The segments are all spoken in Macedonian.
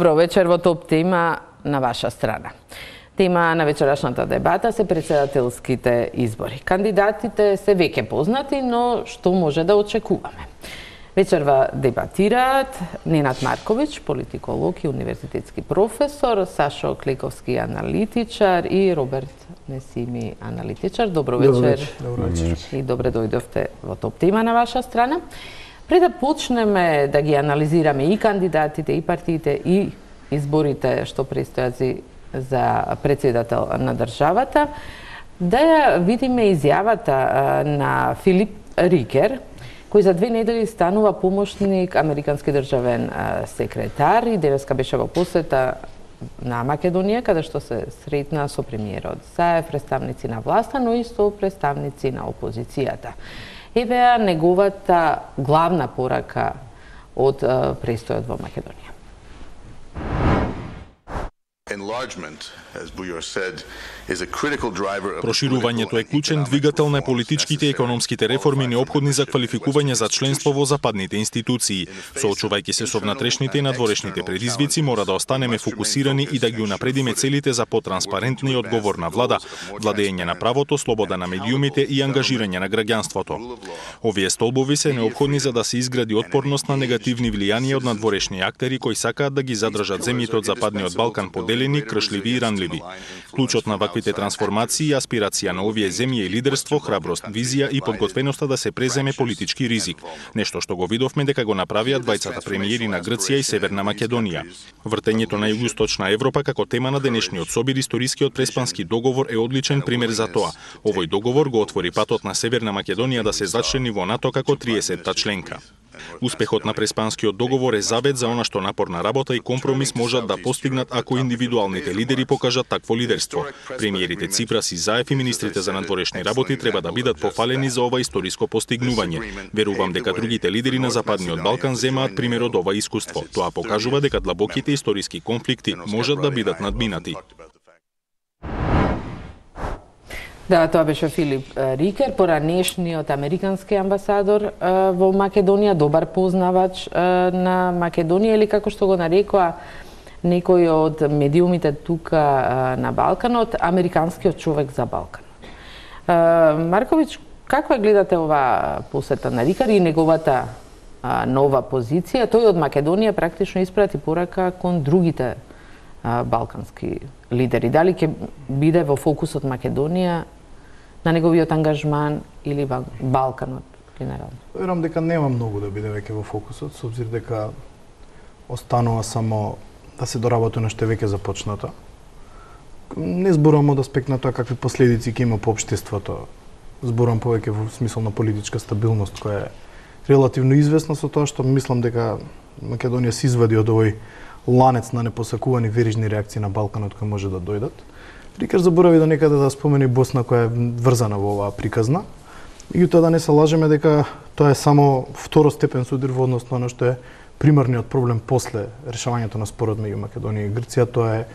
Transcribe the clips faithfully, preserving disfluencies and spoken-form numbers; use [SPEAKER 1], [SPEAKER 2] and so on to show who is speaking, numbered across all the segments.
[SPEAKER 1] Добро вечер во Топ тема на ваша страна. Тема на вечерашната дебата се претседателските избори. Кандидатите се веќе познати, но што може да очекуваме? Вечерва дебатираат Ненад Марковиќ, политиколог и универзитетски професор, Сашо Клековски, аналитичар и Роберт Несими, аналитичар. Добро вечер.
[SPEAKER 2] Добро вечер.
[SPEAKER 1] И добре дојдовте во Топ тема на ваша страна. Пред да почнеме да ги анализираме и кандидатите, и партиите, и изборите што престојат за председател на државата, да ја видиме изјавата на Филип Рикер, кој за две недели станува помошник американски државен секретар и денеска беше во посета на Македонија, каде што се сретна со премиерот Заев, представници на власта, но и со представници на опозицијата. Еве неговата главна порака од престојот во Македонија.
[SPEAKER 3] Проширувањето е клучен двигател на политичките и економските реформи неопходни за квалификување за членство во западните институции. Соочувајќи се со внатрешните и надворешните предизвици, мора да останеме фокусирани и да ги унапредиме целите за потранспарентна и одговорна влада, владење на правото, слобода на медиумите и ангажирање на граѓанството. Овие столбови се неопходни за да се изгради отпорност на негативни влијанија од надворешни актери кои сакаат да ги задржат земјите од Западниот Балкан поделени, кршливи и ранливи. Клучот на ваквите трансформации и аспирација на овие земји е лидерство, храброст, визија и подготвеноста да се преземе политички ризик. Нешто што го видовме дека го направија двајцата премиери на Грција и Северна Македонија. Вртењето на југоисточна Европа како тема на денешниот собир историскиот преспански договор е одличен пример за тоа. Овој договор го отвори патот на Северна Македонија да се зачлени во НАТО како триесетта членка. Успехот на преспанскиот договор е завет за она што напорна работа и компромис можат да постигнат ако индивидуалните лидери покажат такво лидерство. Премиерите Ципрас и Заев и министрите за надворешни работи треба да бидат пофалени за ова историско постигнување. Верувам дека другите лидери на Западниот Балкан земаат пример од ова искуство. Тоа покажува дека длабоките историски конфликти можат да бидат надминати.
[SPEAKER 1] Да, тоа беше Филип Рикер, поранешниот американски амбасадор во Македонија, добар познавач на Македонија или како што го нарекоа некој од медиумите тука на Балканот, американскиот човек за Балканот. Марковиќ, како гледате ова посета на Рикер и неговата нова позиција? Тој од Македонија практично испрати порака кон другите балкански лидери. Дали ќе биде во фокусот Македонија на неговиот ангажман или Балканот генерално?
[SPEAKER 2] Верувам дека нема многу да биде веќе во фокусот, со обзир дека останува само да се доработи на што веќе започнато. Не зборувам од аспект на тоа какви последици ќе има по општеството. Зборувам повеќе во смисол на политичка стабилност која е релативно известна со тоа што мислам дека Македонија се извади од овој ланец на непосакувани верижни реакции на Балканот кои може да дојдат. Рикер заборави да некаде да спомени Босна која е врзана во оваа приказна. Меѓутоа да не се лажеме дека тоа е само второстепен суdir во однос на оно што е примарниот проблем после решавањето на спорот меѓу Македонија и Грција, тоа е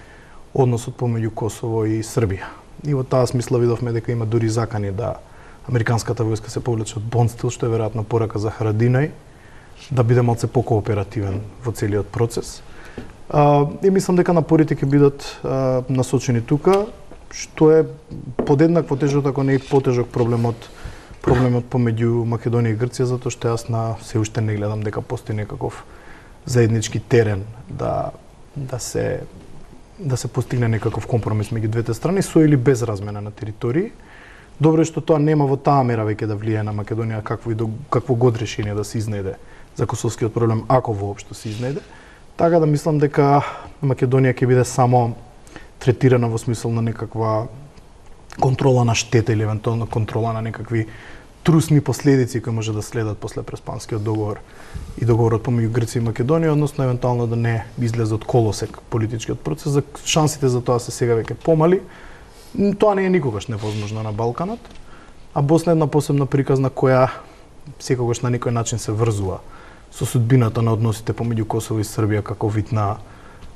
[SPEAKER 2] односот помеѓу Косово и Србија. И во таа смисла видовме дека има дури закани да американската војска се повлече од Бонстил, што е веројатно порака за Харадинај, да биде малце покооперативен во целиот процес. Uh, и мислам дека напорите ќе бидат uh, насочени тука, што е подеднакво тежок, ако не и потежок проблемот проблемот помеѓу Македонија и Грција, затоа што јас на се уште не гледам дека постои некаков заеднички терен да да се да се постигне некаков компромис меѓу двете страни со или без размена на територии. Добро е што тоа нема во таа мера веќе да влијае на Македонија какво и до, какво год решение да се изнајде за косовскиот проблем, ако воопшто се изнајде. Така да мислам дека Македонија ќе биде само третирана во смисол на некаква контрола на штета или евентуално контрола на некакви трусни последици кои може да следат после преспанскиот договор и договорот помеѓу Грција и Македонија, односно евентуално да не излезе од колосек политичкиот процес. За шансите за тоа се сега веќе помали. Тоа не е никогаш невозможно на Балканот, а Босна е една посебна приказна која секогаш на некој начин се врзува со судбината на односите помеѓу Косово и Србија како вид на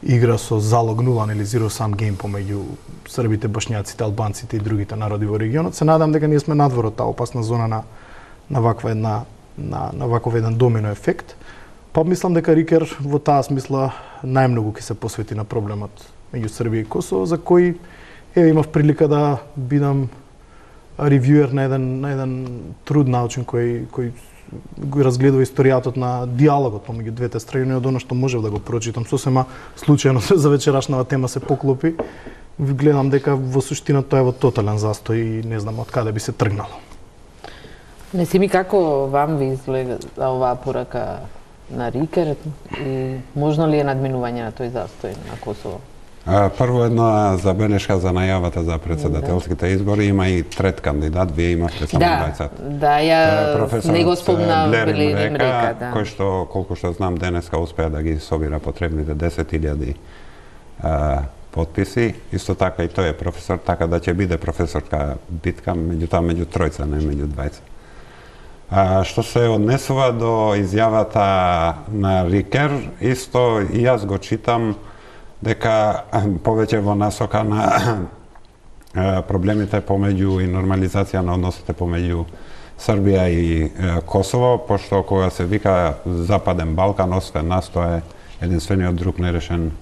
[SPEAKER 2] игра со залог нула или zero sum game помеѓу србите, бошњаците, албанците и другите народи во регионот. Се надам дека ние сме надвор од таа опасна зона на на ваква една на на ваков еден домино ефект. Па мислам дека Рикер во таа смисла најмногу ќе се посвети на проблемот меѓу Србија и Косово, за кој еве имав прилика да бидам ревјуер на еден на еден труд научен кој кој го разгледува историјатот на диалогот помеѓу двете страни, од оно што можев да го прочитам сосема случајно за вечерашната тема се поклопи. Гледам дека во суштина тоа е во тотален застој и не знам од каде би се тргнало.
[SPEAKER 1] Не си ми како вам ви изгледа оваа порака на Рикер и можно ли е надминување на тој застој на Косово?
[SPEAKER 4] Прво една забелешка за најавата за председателските избори. Има и трет кандидат, вие имате само дваесет.
[SPEAKER 1] Да, ја не го спомна Блерин Река, да.
[SPEAKER 4] Кој што, колку што знам, денеска успеа да ги собира потребните десет илјади потписи. Исто така и тој е професор, така да ќе биде професорска битка, меѓутоа меѓу тројца, не меѓу дваесет. А, што се однесува до изјавата на Рикер, исто и јас го читам дека повеќе во насока на проблемите помеѓу и нормализација на односите помеѓу Србија и Косово, пошто кога се вика Западен Балкан, освен нас, тоа е единствениот друг нерешен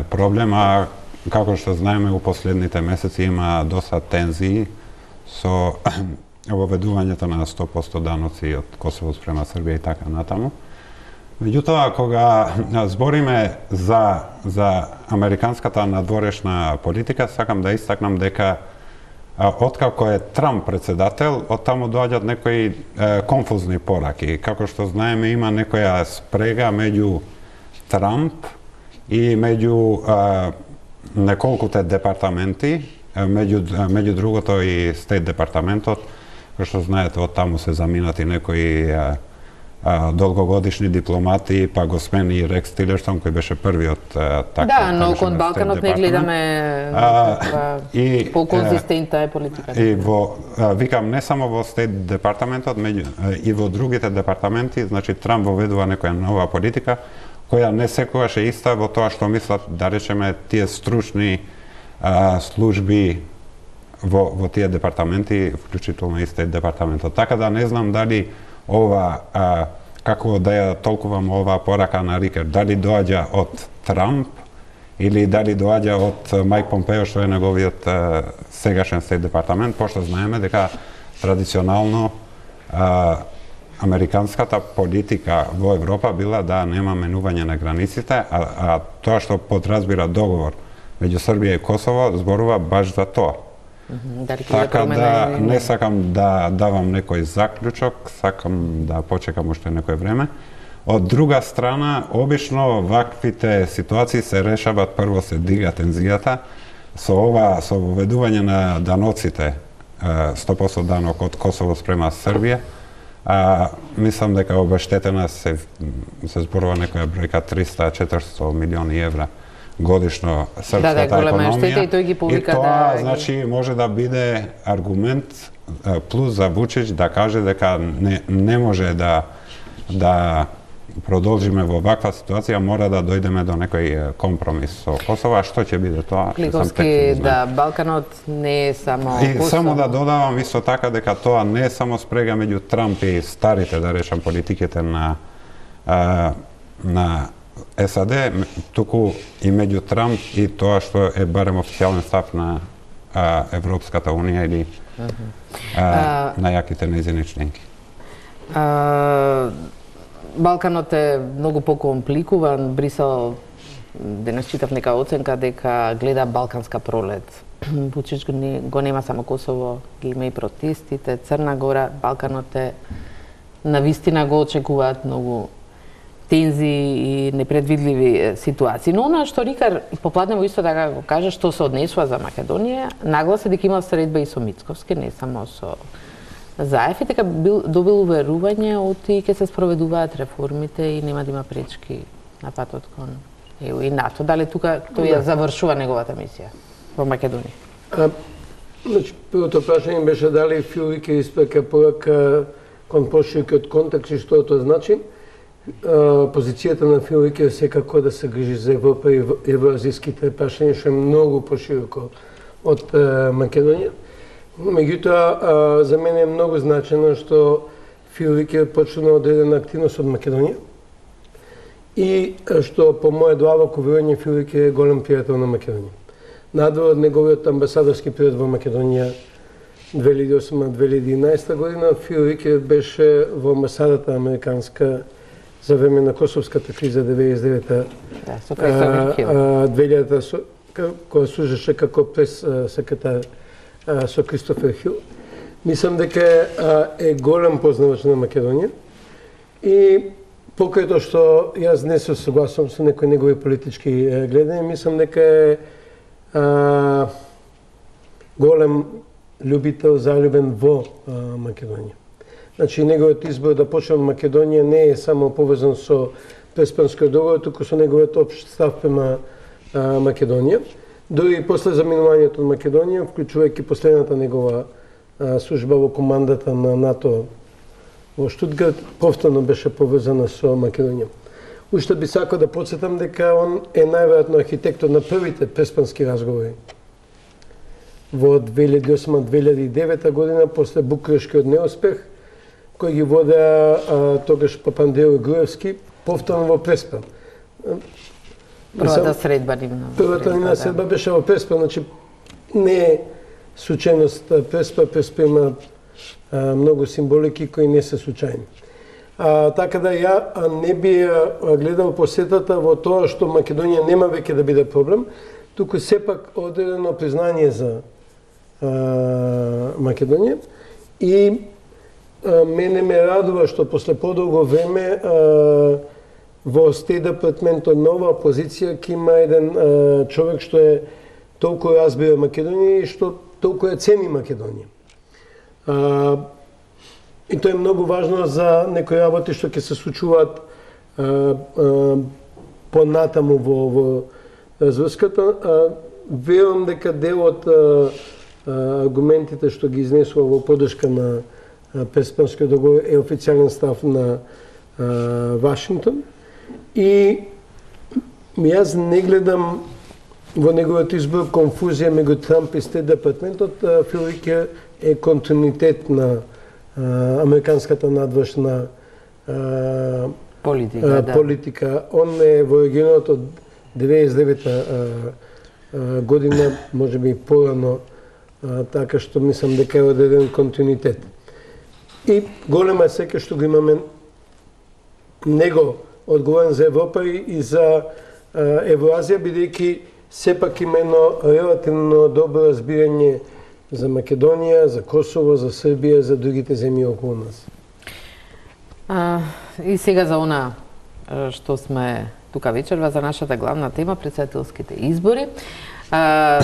[SPEAKER 4] проблем, а како што знаеме у последните месеци има доста тензии со воведувањето на сто проценти даноци од Косово спрема Србија и така натаму. Меѓутоа, кога збориме за, за американската надворешна политика, сакам да истакнам дека откако е Трамп председател, од таму доаѓаат некои е, конфузни пораки. Како што знаеме, има некоја спрега меѓу Трамп и меѓу е, неколкуте департаменти, меѓу, меѓу другото и Стейт департаментот, кој што знаете, од таму се заминати некои е, долгогодишни дипломати, па го смени и Рекс Тилерсон, кој беше првиот така.
[SPEAKER 1] Да, но кон Балканот не гледаме и по-конзистентна е политиката.
[SPEAKER 4] И во викам не само во Стейт департаментот, меѓу и во другите департаменти, значи Трамп воведува некоја нова политика која не секогаш е иста во тоа што мислат, да речеме, тие стручни а, служби во во тие департаменти, вклучително и Стейт департаментот. Така да не знам дали ова, а, како да ја толкувам ова порака на Рикер, дали доаѓа од Трамп или дали доаѓа од Мајк Помпео, што е неговиот а, сегашен Стейт департамент, пошто знаеме дека традиционално а, американската политика во Европа била да нема менување на границите, а, а тоа што подразбира договор меѓу Србија и Косово зборува баш за тоа.
[SPEAKER 1] Дали
[SPEAKER 4] така да не сакам да давам некој заклучок, сакам да почекам уште некој време. Од друга страна, обично ваквите ситуации се решаваат, прво се дига тензијата, со ова, со воведување на даноците, сто проценти данок од Косово спрема Србија, а, мислам дека обештетена се, се зборува некоја бројка триста до четиристотини милиони евра годишно српската
[SPEAKER 1] да, да,
[SPEAKER 4] економија.
[SPEAKER 1] И, тој ги повика,
[SPEAKER 4] и тоа,
[SPEAKER 1] да,
[SPEAKER 4] значи, може да биде аргумент плюс за Вучич да каже дека не, не може да да продолжиме во ваква ситуација, мора да дојдеме до некој компромис со Косово, а што ќе биде тоа?
[SPEAKER 1] Кликовски, да, Балканот не е само
[SPEAKER 4] и
[SPEAKER 1] Косово.
[SPEAKER 4] Само да додавам исто така дека тоа не е само спрега меѓу Трамп и старите, да речам, политиките на а, на САД, туку и меѓу Трамп и тоа што е барем официјален став на а, Европската унија или uh -huh. а, на јаките нејзини членки.
[SPEAKER 1] А, Балканот е многу покомпликуван. Брисел, денес читав нека оценка дека гледа балканска пролет. Вучич го, не, го нема само Косово, ги има и протестите, Црна Гора, Балканот е навистина го очекуваат многу тензии и непредвидливи ситуации. Но она што Рикар попладнево исто така го каже, што се однесува за Македонија, нагласа дека има средба и со Мицковски, не само со Заев, и дека бил, добил уверување од и ќе се спроведуваат реформите и нема да има пречки на патот кон Е У и НАТО. Дали тука тој ја завршува неговата мисија во Македонија?
[SPEAKER 5] А, значи, првото прашање беше дали Фил ќе испека порака кон поширокиот контекст и што тоа значи. Uh, позицијата на Фил е секако да се грижи за Европа и евроазиските прашања, што е многу пошироко од uh, Македонија. Меѓутоа, uh, за мене е многу значено што Фил е почнува одредена активност од Македонија. и што по моје длабоко верување Филик е голем пријател на Македонија. Надвор од неговиот амбасадорски период во Македонија две илјади и осма - две илјади и единаесета година, Филик беше во амбасадата американска за време на Косовската криза деветдесет и девета
[SPEAKER 1] Да, со Кристофер Хил.
[SPEAKER 5] две илјадата која служеше како прес секретар со Кристофер Хил. Мислам дека е голем познавач на Македонија и покрај тоа што јас не се согласувам со некои негови политички гледања, мислам дека е а, голем љубител, залюбен во а, Македонија. Значи, неговиот избор да почне од Македонија не е само повезан со Преспанскиот договор, туку со неговиот општ став према а, Македонија. Дори и после заминувањето од Македонија, вклучувајќи последната негова а, служба во командата на НАТО во Штутгарт, повторно беше повезана со Македонија. Уште би сакал да подсетам дека он е најверојатно архитектот на првите преспански разговори во две илјади и осма - две илјади и девета година, после Букурешкиот неуспех, кој ги водеа а, тогаш Папандреу и Груевски, повторно во Преспа.
[SPEAKER 1] Првата средба нивна.
[SPEAKER 5] Првата нивна средба беше во Преспа, значи не е случајност Преспа, Преспа има а, многу символики кои не се случајни. А, така да ја а, не би а, гледал посетата во тоа што Македонија нема веќе да биде проблем, туку сепак одредено признање за а, Македонија и а, мене ме радува што после подолго време а, во Стејт департментот на оваа позиција ќе има еден а, човек што е толку разбира Македонија и што толку ја цени Македонија. А, и тоа е многу важно за некои работи што ќе се случуваат а, а, понатаму во, во зврската. Верувам дека дел од а, аргументите што ги изнесува во поддршка на Преспанскиот договор е официјален став на а, Вашингтон. И јас не гледам во неговиот избор конфузија меѓу Трамп и Стејт департментот. Филик е континуитет на а, американската надвршна а,
[SPEAKER 1] политика,
[SPEAKER 5] а,
[SPEAKER 1] да.
[SPEAKER 5] политика. Он е во регионот од деветдесет и девета а, а, година, може би порано, а, така што мислам дека е одреден континуитет. И голема сека што го имаме него одговорен за Европа и за Евроазија, бидејќи сепак има едно релативно добро разбирање за Македонија, за Косово, за Србија, за другите земји околу нас.
[SPEAKER 1] А, и сега за она што сме тука вечерва, за нашата главна тема, претседателските избори. А,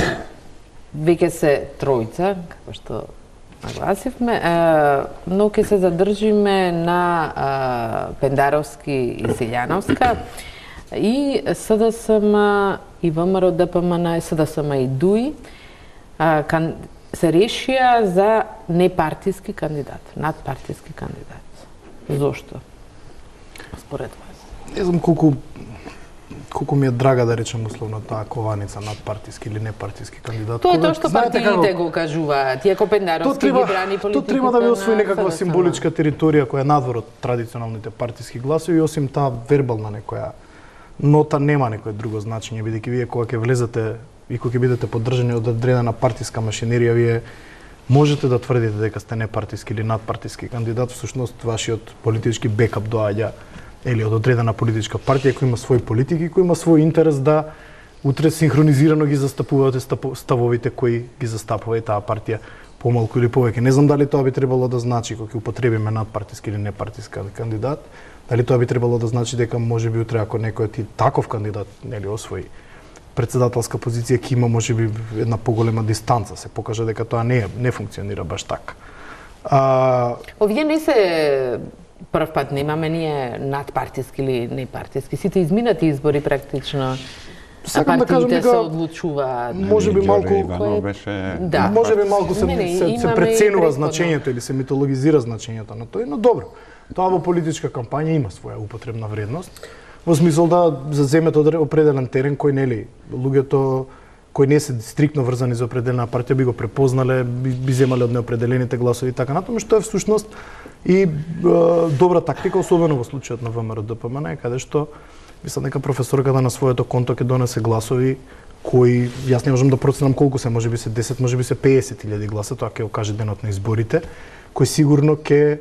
[SPEAKER 1] веќе се тројца, како што нагласивме, но ќе се задржиме на а, Пендаровски и Силјановска и СДСМ и ВМРО ДПМН, СДСМ и ДУИ а, кан, се решија за непартиски кандидат, надпартиски кандидат. Зошто? Според вас?
[SPEAKER 2] Не знам колку колку ми е драга да речем условно таа кованица надпартиски или непартиски кандидат.
[SPEAKER 1] Тоа е тоа што партиите го кажуваат. Иако Пендаровски ги брани политиката.
[SPEAKER 2] Тоа треба да ви освои некаква
[SPEAKER 1] СДСМ.
[SPEAKER 2] символичка територија која е надвор од традиционалните партиски гласови и осим таа вербална некоја нота нема некое друго значење, бидејќи вие кога ќе влезете и кога ќе бидете поддржани од одредена партиска машинерија, вие можете да тврдите дека сте непартиски или надпартиски кандидат, всушност вашиот политички бекап доаѓа или од одредена политичка партија која има своји политики, која има свој интерес да утре синхронизирано ги застапувате ставовите кои ги застапува и таа партија помалку или повеќе. Не знам дали тоа би требало да значи кога ќе употребиме надпартиски или непартиски кандидат, дали тоа би требало да значи дека можеби утре ако некој ти таков кандидат нели освои претседателска позиција ќе има можеби една поголема дистанца, се покаже дека тоа не е, не функционира баш така. А...
[SPEAKER 1] Овие не се прв пат немаме ние надпартиски или непартиски. Сите изминати избори практично
[SPEAKER 2] Сакам да кажам
[SPEAKER 1] партиите
[SPEAKER 2] дека
[SPEAKER 1] се одлучуваат.
[SPEAKER 2] можеби малку
[SPEAKER 4] Иванов беше
[SPEAKER 1] Да.
[SPEAKER 2] можеби малку се,
[SPEAKER 1] Не, не,
[SPEAKER 2] се, се
[SPEAKER 1] имаме
[SPEAKER 2] преценува
[SPEAKER 1] и претходно.
[SPEAKER 2] значењето или се митологизира значењето на тој, но добро. Тоа во политичка кампања има своја употребна вредност. Во смисол да заземете определен терен кој нели луѓето кои не се стриктно врзани за определена партија би го препознале, би, би земале од неопределените гласови и така натаму, што е всушност и е, добра тактика, особено во случајот на ВМРО ДПМН, каде што Мислам дека професорката на своето конто ќе донесе гласови кои јас не можам да проценам колку се, можеби се десет, можеби се песет илјади гласа, тоа ќе го каже денот на изборите, кој сигурно ќе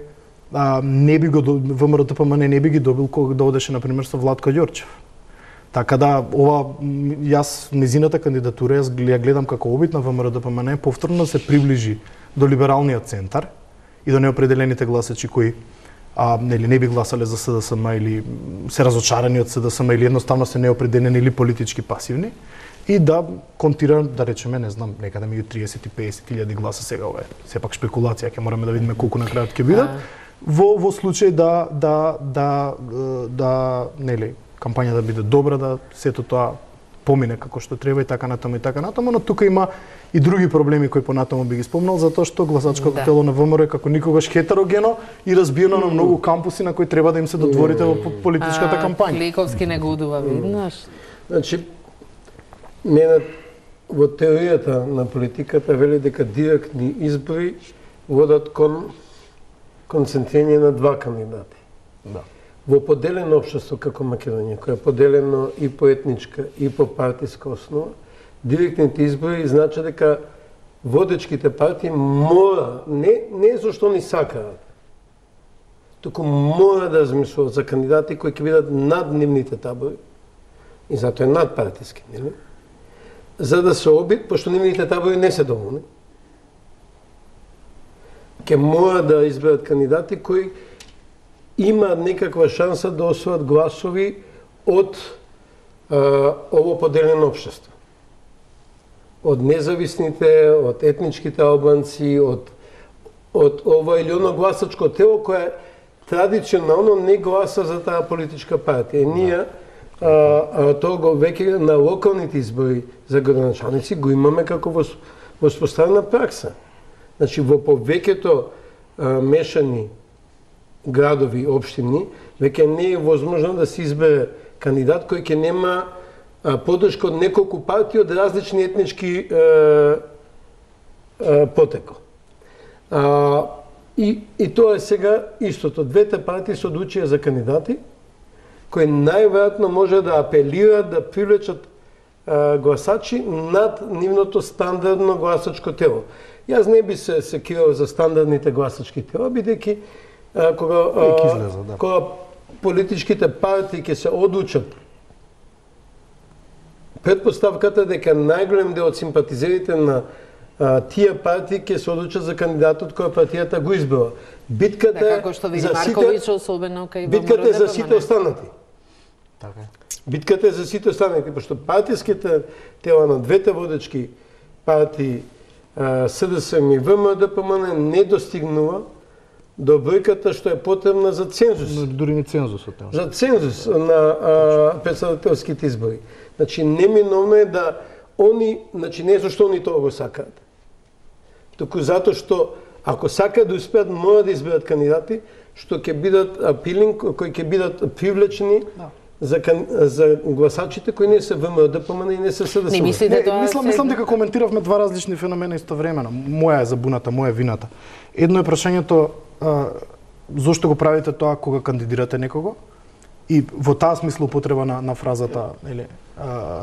[SPEAKER 2] а, не би го ВМРО-ДПМН не би ги добил кога да одеше на пример со Владко Ѓорчев. Така да ова јас незината кандидатура јас ја гледам како обид на ВМРО-ДПМН повторно да се приближи до либералниот центар и до неопределените гласачи кои а, нели не би гласале за СДСМ или се разочарани од СДСМ или едноставно се неопределени или политички пасивни и да контира, да речеме, не знам, некаде меѓу триесет и песет илјади гласа, сега ова е сепак шпекулација, ќе мораме да видиме колку на крајот ќе бидат. Во во случај да да да да, да нели кампањата да биде добра, да сето тоа помине како што треба и така натаму и така натаму, но тука има и други проблеми кои понатаму би ги спомнал, затоа што гласачкото да. тело на ВМРО е како никогаш хетерогено и разбиено mm. на многу кампуси на кои треба да им се додворите mm. во политичката кампања.
[SPEAKER 1] Кликовски не го удува, виднаш.
[SPEAKER 5] Значи, не на, во теоријата на политиката вели дека директни избори водат кон концентрирање на два кандидати.
[SPEAKER 2] Да.
[SPEAKER 5] Во поделено општество како Македонија, кој е поделено и по етничка и по партиска основа, директните избори значи дека водечките партии мора, не, не зашто ни сакаат, туку мора да размислуваат за кандидати кои ќе бидат над нивните табори, и затоа е надпартиски, нели? За да се обид, пошто нивните табори не се доволни, ќе мора да изберат кандидати кои имаат некаква шанса да освојат гласови од а, ово поделено општество. Од независните, од етничките албанци, од, од ова или оно гласачко тело кое традиционално не гласа за таа политичка партија. И ние а, а, тоа го веќе на локалните избори за градоначалници го имаме како воспоставена пракса. Значи во повеќето мешани градови, општини, веќе не е возможно да се избере кандидат кој ќе нема а, поддршка од неколку партии од различни етнички а, а, потеко. А, и, и тоа е сега истото. Двете партии се одлучија за кандидати кои најверојатно може да апелираат да привлечат а, гласачи над нивното стандардно гласачко тело. Јас не би се секирал за стандардните гласачки тела, бидејќи кога,
[SPEAKER 2] излеза, да.
[SPEAKER 5] кога политичките партии ќе се одлучат, предпоставката дека најголем дел од симпатизерите на а, тие партии ќе се одлучат за кандидатот која партијата го избрала. Битката
[SPEAKER 1] е како што види Марковиќ, особено кај
[SPEAKER 5] битката е за сите останати.
[SPEAKER 2] Така е.
[SPEAKER 5] Битката е за сите останати, пошто партиските тела на двете водечки партии СДСМ и ВМРО-ДПМН не достигнува до бројката што е потребна за цензус.
[SPEAKER 2] Но дури не цензусот.
[SPEAKER 5] За цензус на а, председателските избори. Значи, неминовно е да они, значи не зашто они тоа го сакаат. Туку затоа што ако сакаат да успеат, мора да изберат кандидати што ќе бидат апилинг, кои ќе бидат привлечени да. за, за гласачите кои не се ВМРО-ДПМН и не се СДСМ.
[SPEAKER 1] Не мислите тоа?
[SPEAKER 2] Мислам, мислам дека коментиравме два различни феномена истовремено. Моја е забуната, моја е вината. Едно е прашањето а, зошто го правите тоа кога кандидирате некого? И во таа смисла употреба на, на фразата или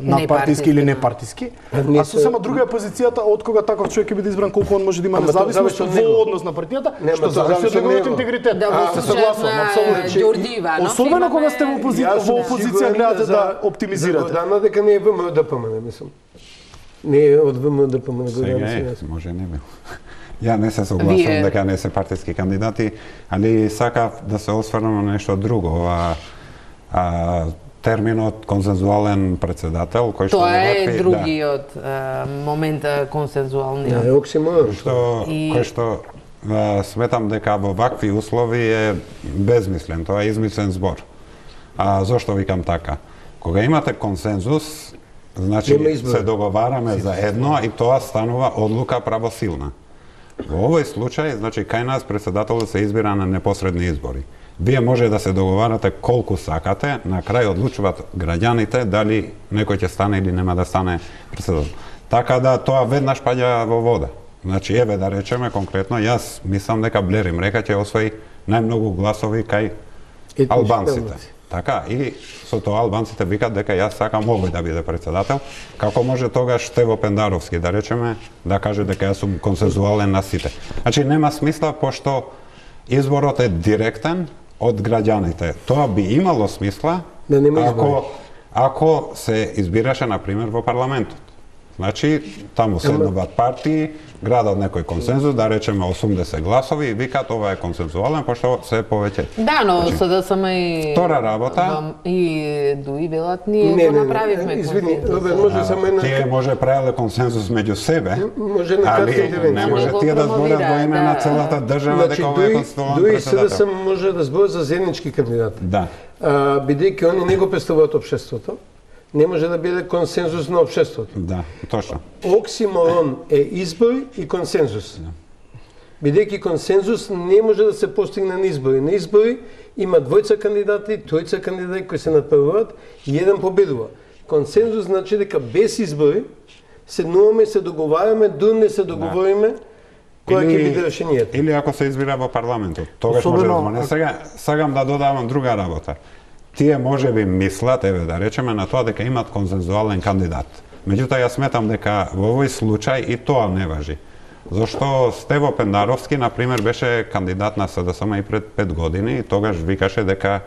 [SPEAKER 2] надпартиски или непартиски. А сосема друга е позицијата од кога таков човек ќе биде избран, колку он може да има независност во однос на партијата, што зависи од неговиот интегритет.
[SPEAKER 1] Да, се согласувам, апсолутно.
[SPEAKER 2] Особено кога сте во опозиција, во опозиција гледате да оптимизирате.
[SPEAKER 5] За Гордана дека не е ВМРО-ДПМН, мислам. Не е од ВМРО-ДПМН Гордана.
[SPEAKER 4] Сега може не бил. Ја не се согласувам дека не се партиски кандидати, али сакав да се осврнам на нешто друго. Ова а, терминот консензуален председател, кој што
[SPEAKER 1] тоа е да, другиот а, момента консензуалниот.
[SPEAKER 5] Да, е оксиморон.
[SPEAKER 4] Што и... кој што а, сметам дека во вакви услови е безмислен, тоа е измислен збор. А зошто викам така? Кога имате консензус, значи се договараме за едно и тоа станува одлука правосилна. Во овој случај, значи кај нас председателот се избира на непосредни избори. Вие може да се договарате колку сакате, на крај одлучуваат граѓаните дали некој ќе стане или нема да стане председател. Така да тоа веднаш паѓа во вода. Значи еве да речеме конкретно, јас мислам дека Блер Имрека ќе освои најмногу гласови кај албанците. Така, и со тоа албанците викат дека јас сакам овој да биде председател, како може тогаш Стево Пендаровски, да речеме, да каже дека јас сум консензуален на сите. Значи, нема смисла, пошто изборот е директен од граѓаните. Тоа би имало смисла,
[SPEAKER 5] да нема
[SPEAKER 4] ако, ако се избираше, например, во парламентот. Значи, таму седнуваат партии, градат некој консензус, да речеме осумдесет гласови, и викат ова е консензуален, пошто се повеќе.
[SPEAKER 1] Да, но
[SPEAKER 4] значи,
[SPEAKER 1] СДСМ и
[SPEAKER 4] втора работа
[SPEAKER 1] и Дуи велат ние
[SPEAKER 5] не,
[SPEAKER 1] го направивме.
[SPEAKER 5] Извини, Робер, може само една...
[SPEAKER 4] Тие може правеле консензус меѓу себе,
[SPEAKER 5] може една кратка
[SPEAKER 4] али
[SPEAKER 5] интервенција.
[SPEAKER 4] не може
[SPEAKER 1] Го
[SPEAKER 4] тие да зборат во име
[SPEAKER 1] да.
[SPEAKER 4] на целата држава
[SPEAKER 5] Значи,
[SPEAKER 4] дека ова е
[SPEAKER 5] Дуи,
[SPEAKER 4] конституционален
[SPEAKER 5] Дуи
[SPEAKER 4] председател.
[SPEAKER 5] СДСМ може да збори за заеднички кандидати.
[SPEAKER 4] Да.
[SPEAKER 5] А, бидејќи они не го представуваат општеството, не може да биде консензус на општеството.
[SPEAKER 4] Да, точно.
[SPEAKER 5] Оксиморон е избори и консензус. Бидејќи консензус не може да се постигне на избори. На избори има двојца кандидати, тројца кандидати кои се надпреваруваат и еден победува. Консензус значи дека без избори седнуваме, се договараме, дур не се договориме која ќе биде решението.
[SPEAKER 4] Или ако се избира во парламентот, тогаш
[SPEAKER 2] Особено,
[SPEAKER 4] може да зборне. Сега сакам да додавам друга работа. Тие може би мислат, еве да речеме, на тоа дека имат консензуален кандидат. Меѓутоа, јас сметам дека во овој случај и тоа не важи. Зашто Стево Пендаровски, например, беше кандидат на СДСМ и пред пет години и тогаш викаше дека,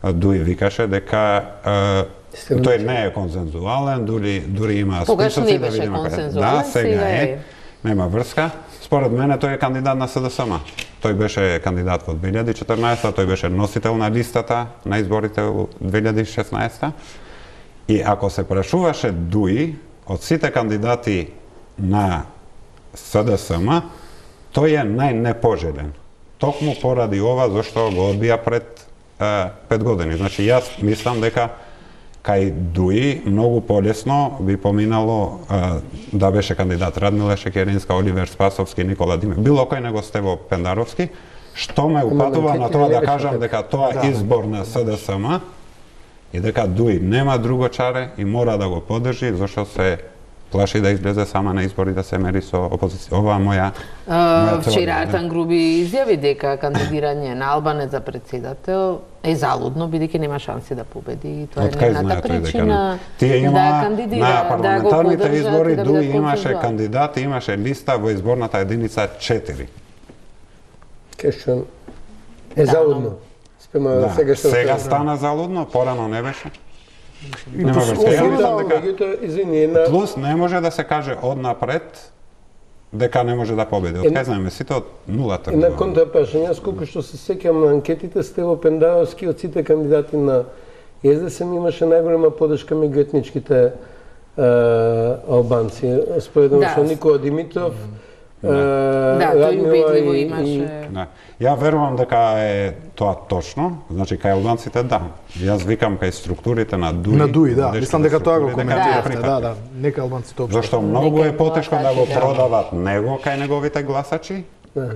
[SPEAKER 4] Дуи викаше дека е, тој не е консензуален, дури, дури има
[SPEAKER 1] Тогаш
[SPEAKER 4] списоци
[SPEAKER 1] не
[SPEAKER 4] да
[SPEAKER 1] беше
[SPEAKER 4] видиме.
[SPEAKER 1] консензуален,
[SPEAKER 4] Да, сега
[SPEAKER 1] сега
[SPEAKER 4] е.
[SPEAKER 1] е.
[SPEAKER 4] Нема врска. Според мене тој е кандидат на СДСМ. Тој беше кандидат во две илјади и четрнаесета, тој беше носител на листата на изборите во две илјади и шеснаесета. И ако се прашуваше Дуи од сите кандидати на СДСМ, тој е најнепожелен. Токму поради ова зашто го одбија пред е, пет години. Значи јас мислам дека кај Дуи многу полесно би поминало а, да беше кандидат Радмила Шекеринска, Оливер Спасовски, Никола Димев, било кој него Стево Пендаровски, што ме упатува на тоа да кажам дека тоа е избор на СДСМ и дека Дуи нема друго чаре и мора да го поддржи зашто се плаши да излезе сама на избори да се мери со опозиција. Ова моја
[SPEAKER 1] Uh, вчера Артан Груби изјави дека кандидирање на Албанец за председател е залудно, бидејќи нема шанси да победи. И тоа е нейната причина
[SPEAKER 4] тие има,
[SPEAKER 1] да кандидира,
[SPEAKER 4] на парламентарните
[SPEAKER 1] да го
[SPEAKER 4] избори
[SPEAKER 1] да
[SPEAKER 4] Дуи имаше кандидат, имаше листа во изборната единица четири.
[SPEAKER 5] Кешон е залудно. Спрема
[SPEAKER 4] Да.
[SPEAKER 5] сега што
[SPEAKER 4] Сега
[SPEAKER 5] се-
[SPEAKER 4] стана залудно, порано не беше.
[SPEAKER 2] И
[SPEAKER 4] Нема
[SPEAKER 2] тоа
[SPEAKER 4] врска. Ја
[SPEAKER 2] особено-
[SPEAKER 4] мислам дека
[SPEAKER 5] Меѓутоа, извини, една
[SPEAKER 4] плюс не може да се каже однапред дека не може да победи. Од кај знаеме сите од нулата.
[SPEAKER 5] една контрапрашање, јас колку што се сеќам на анкетите, Стево Пендаровски од сите кандидати на СДСМ имаше најголема поддршка меѓу етничките е, албанци. Споредно
[SPEAKER 1] Да.
[SPEAKER 5] со Никола Димитров, е,
[SPEAKER 1] Да, тој
[SPEAKER 5] Радмила
[SPEAKER 1] убедливо
[SPEAKER 5] и- и-
[SPEAKER 1] имаше.
[SPEAKER 4] Да. Ја верувам дека е тоа точно, значи кај албанците да. Јас викам кај структурите на Дуи.
[SPEAKER 2] На Дуи, да.
[SPEAKER 4] водечките
[SPEAKER 2] Мислам дека тоа го
[SPEAKER 4] структури, дека
[SPEAKER 2] коментиравте.
[SPEAKER 4] не
[SPEAKER 2] Да,
[SPEAKER 4] прифатат.
[SPEAKER 2] да. Нека албанците општо.
[SPEAKER 4] Зашто многу
[SPEAKER 1] Нека
[SPEAKER 4] е потешко да го
[SPEAKER 1] гласачи, да.
[SPEAKER 4] продават него кај неговите гласачи,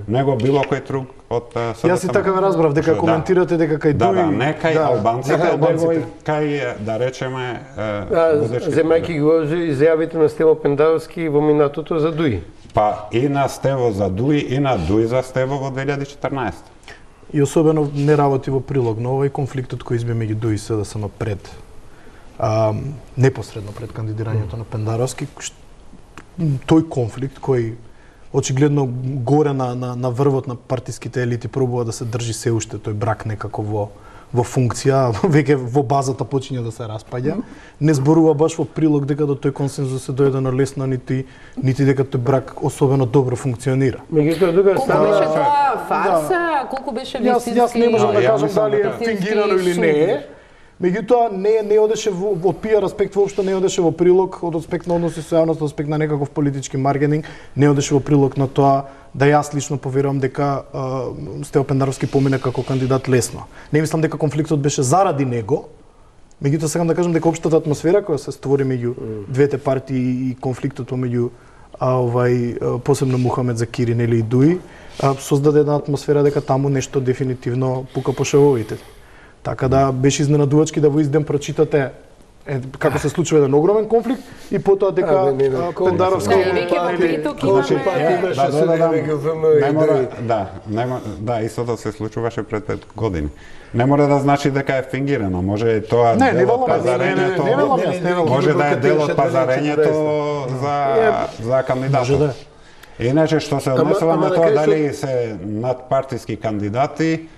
[SPEAKER 4] него било кој друг од СДСМ.
[SPEAKER 2] Јас и така ве разбрав дека
[SPEAKER 4] Да.
[SPEAKER 2] коментирате дека кај
[SPEAKER 4] Да,
[SPEAKER 2] Дуи.
[SPEAKER 4] да, не кај
[SPEAKER 2] да,
[SPEAKER 4] албанците,
[SPEAKER 2] не кај
[SPEAKER 4] него
[SPEAKER 2] албанците.
[SPEAKER 4] и кај, да речеме, е,
[SPEAKER 5] Да,
[SPEAKER 4] водечките.
[SPEAKER 5] земајќи го изјавите на Стево Пендаровски во минатото за Дуи.
[SPEAKER 4] Па и на Стево за Дуи, и на Дуи за Стево во две илјади и четрнаесета.
[SPEAKER 2] И особено не работи во прилог на овој конфликтот кој избе меѓу Дуи и СДСМ пред а, непосредно пред кандидирањето на Пендаровски. Шт- Тој конфликт кој очигледно горе на, на, на врвот на партиските елити пробува да се држи се уште тој брак некако во во функција, веќе во базата почиња да се распаѓа. Не зборува баш во прилог дека до тој консензус се дојдено лесно, нити нити дека тој брак особено добро функционира.
[SPEAKER 5] Меѓутоа, друга
[SPEAKER 1] Колку
[SPEAKER 5] страна,
[SPEAKER 1] беше тоа фарса, колку беше
[SPEAKER 2] Јас
[SPEAKER 1] вистински...
[SPEAKER 2] јас не можам да
[SPEAKER 4] ја
[SPEAKER 2] кажам
[SPEAKER 4] мислам
[SPEAKER 2] дали е
[SPEAKER 4] дека-
[SPEAKER 2] фингирано или не е. Меѓутоа не не одеше во од пиар аспект воопшто не одеше во прилог од аспект на односи со јавноста, од аспект на некаков политички маркетинг, не одеше во прилог на тоа да јас лично поверувам дека а, Стево Пендаровски помине како кандидат лесно. Не мислам дека конфликтот беше заради него. Меѓутоа сакам да кажам дека општата атмосфера која се створи меѓу двете партии и конфликтот помеѓу а, овај а, посебно Мухамед Закири нели и Дуи а, создаде една атмосфера дека таму нешто дефинитивно пука по шевовите. Така да беше изненадувачки да во изден прочитате Е, како се случува еден огромен конфликт и потоа дека Пендаровски
[SPEAKER 4] не мора, да, не мора, да, истото се случуваше пред пет години. Не мора да значи дека е фингирано, може тоа
[SPEAKER 2] не,
[SPEAKER 4] дел од
[SPEAKER 2] не,
[SPEAKER 4] пазарењето,
[SPEAKER 2] не, не, не, не,
[SPEAKER 4] може да е дел од пазарењето за за кандидатот. Иначе што се однесува на тоа дали се надпартиски кандидати,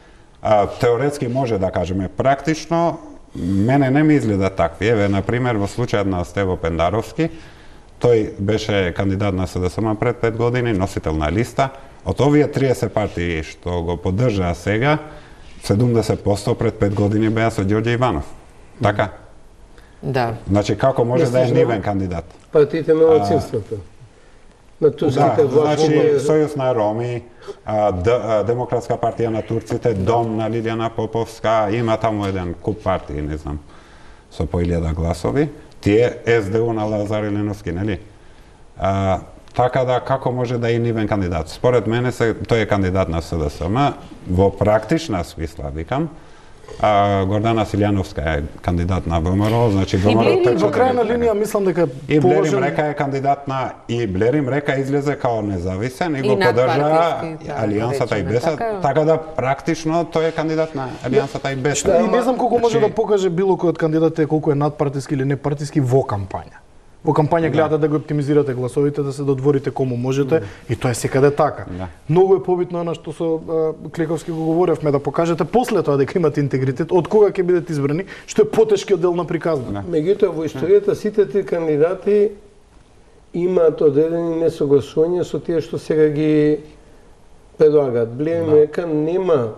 [SPEAKER 4] а, теоретски може да кажеме, практично мене не ми изгледа такви. Еве, на пример, во случајот на Стево Пендаровски, тој беше кандидат на СДСМ пред пет години, носител на листа. Од овие триесет партии што го поддржаа сега, седумдесет проценти пред пет години беа со Ѓорѓе Иванов. Така?
[SPEAKER 1] Да.
[SPEAKER 4] Значи, како може да е нивен кандидат?
[SPEAKER 5] Партиите на малцинството. На турските
[SPEAKER 4] да,
[SPEAKER 5] власти.
[SPEAKER 4] Значи, Сојуз на Роми, а, Д, а, Демократска партија на турците, Дом на Лилијана Поповска, има таму еден куп партии, не знам, со по илјада гласови. Тие СДУ на Лазар Илиновски, нели? А, така да, како може да е нивен кандидат? Според мене, се, тој е кандидат на СДСМ, во практична смисла, викам, А, Гордана Силјановска е кандидат на ВМРО, значи ВМРО
[SPEAKER 2] тече. Во крајна линија мислам дека
[SPEAKER 4] и Блерим Река е кандидат на и Блерим Река излезе као независен и го поддржа Алијансата и БЕСА, така, така да практично тој е кандидат на Алијансата и БЕСА.
[SPEAKER 2] И не знам колку може да покаже било кој од кандидатите колку е надпартиски или непартиски во кампања. Во кампања гледате да го оптимизирате гласовите, да се додворите кому можете, и тоа е секаде така. Да. Многу е побитно она што со а, Клековски го говоревме, да покажете после тоа дека имате интегритет, од кога ќе бидете избрани, што е потешкиот дел на приказна.
[SPEAKER 5] Да. Меѓутоа во историјата сите три кандидати имаат одредени несогласувања со тие што сега ги предлагаат. Блерим Река нема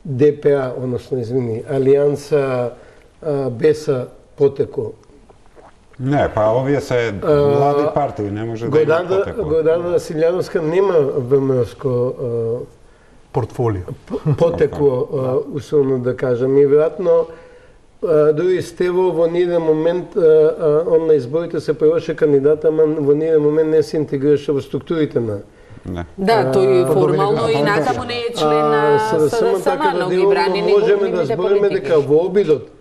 [SPEAKER 5] ДПА, односно извини, Алијанса БЕСА потекло.
[SPEAKER 4] Не, па овие се млади партии, не може да има потекло.
[SPEAKER 5] Гордана Силјановска нема ВМРО-ско
[SPEAKER 2] портфолио.
[SPEAKER 5] Потекло, условно да кажам. И веројатно дури Стево во ниеден момент он на изборите се појаваше кандидат, ама во ниеден момент не се интегрираше во структурите на.
[SPEAKER 1] Не. Да, тој формално и натаму не е член на СДСМ, но ги брани
[SPEAKER 5] можеме да збориме дека во обидот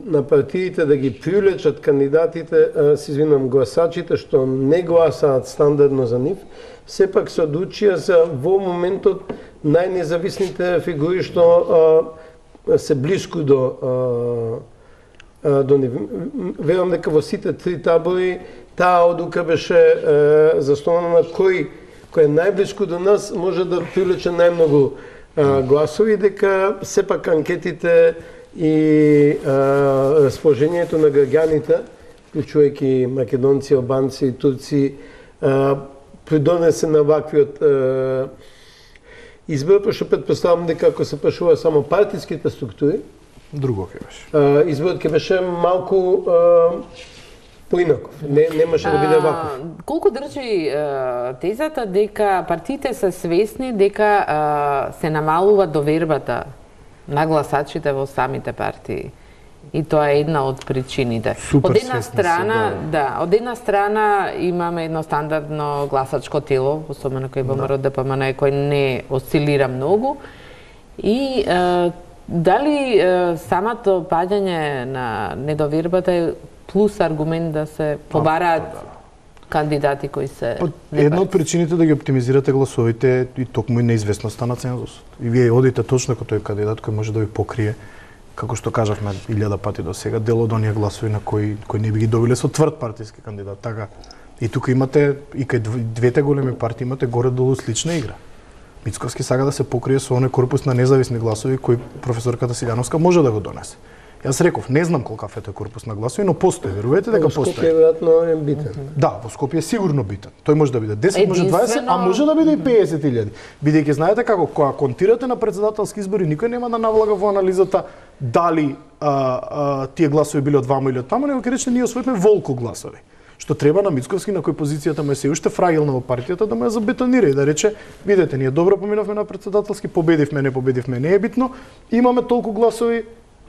[SPEAKER 5] на партиите да ги привлечат кандидатите, се извинам, гласачите што не гласаат стандардно за нив, сепак се одлучија за во моментот најнезависните фигури што а, се блиску до а, до нив. Верувам дека во сите три табори таа одлука беше а, заснована на кој кој е најблиску до нас може да привлече најмногу а, гласови, дека сепак анкетите и а, расположението на граѓаните, вклучувајќи македонци, албанци и турци, а, придонесе на ваквиот а, избор, пошто предпоставам дека ако се прашува само партиските структури,
[SPEAKER 2] друго ќе беше.
[SPEAKER 5] А, изборот ќе беше малку а, поинаков. Не немаше да биде ваков.
[SPEAKER 1] Колку држи а, тезата дека партиите се свесни дека а, се намалува довербата на гласачите во самите партии. И тоа е една од причините.
[SPEAKER 2] Супер
[SPEAKER 1] од една страна,
[SPEAKER 2] се, да.
[SPEAKER 1] да, од една страна имаме едно стандардно гласачко тело, особено кој ВМРО ДПМН, кој не осцилира многу. И е, дали е, самото паѓање на недовербата е плюс аргумент да се побараат да. кандидати кои се
[SPEAKER 2] Па, една од причините да ги оптимизирате гласовите и токму и неизвестноста на цензусот. И вие одите точно како тој кандидат кој може да ви покрие, како што кажавме илјада пати до сега, дел од оние гласови на кои кои не би ги добиле со тврд партиски кандидат. Така. И тука имате и кај двете големи партии имате горе-долу слична игра. Мицковски сага да се покрие со оној корпус на независни гласови кој професорката Силјановска може да го донесе. Јас реков, не знам колкав е тој корпус на гласови, но постои, верувате дека постои.
[SPEAKER 5] Во Скопје веројатно е битен.
[SPEAKER 2] Да, во Скопје е сигурно битен. Тој може да биде десет, може дваесет, а може да биде и педесет илјади. Бидејќи знаете како кога контирате на претседателски избори, никој нема да навлага во анализата дали а, а, тие гласови биле од ваму или од таму, него ќе рече ние освоивме волку гласови. Што треба на Мицковски, на кој позицијата му е се уште фрагилна во партијата, да му ја забетонира и да рече, видете, ние добро поминавме на претседателски, победивме, не победивме, не е битно, имаме толку гласови,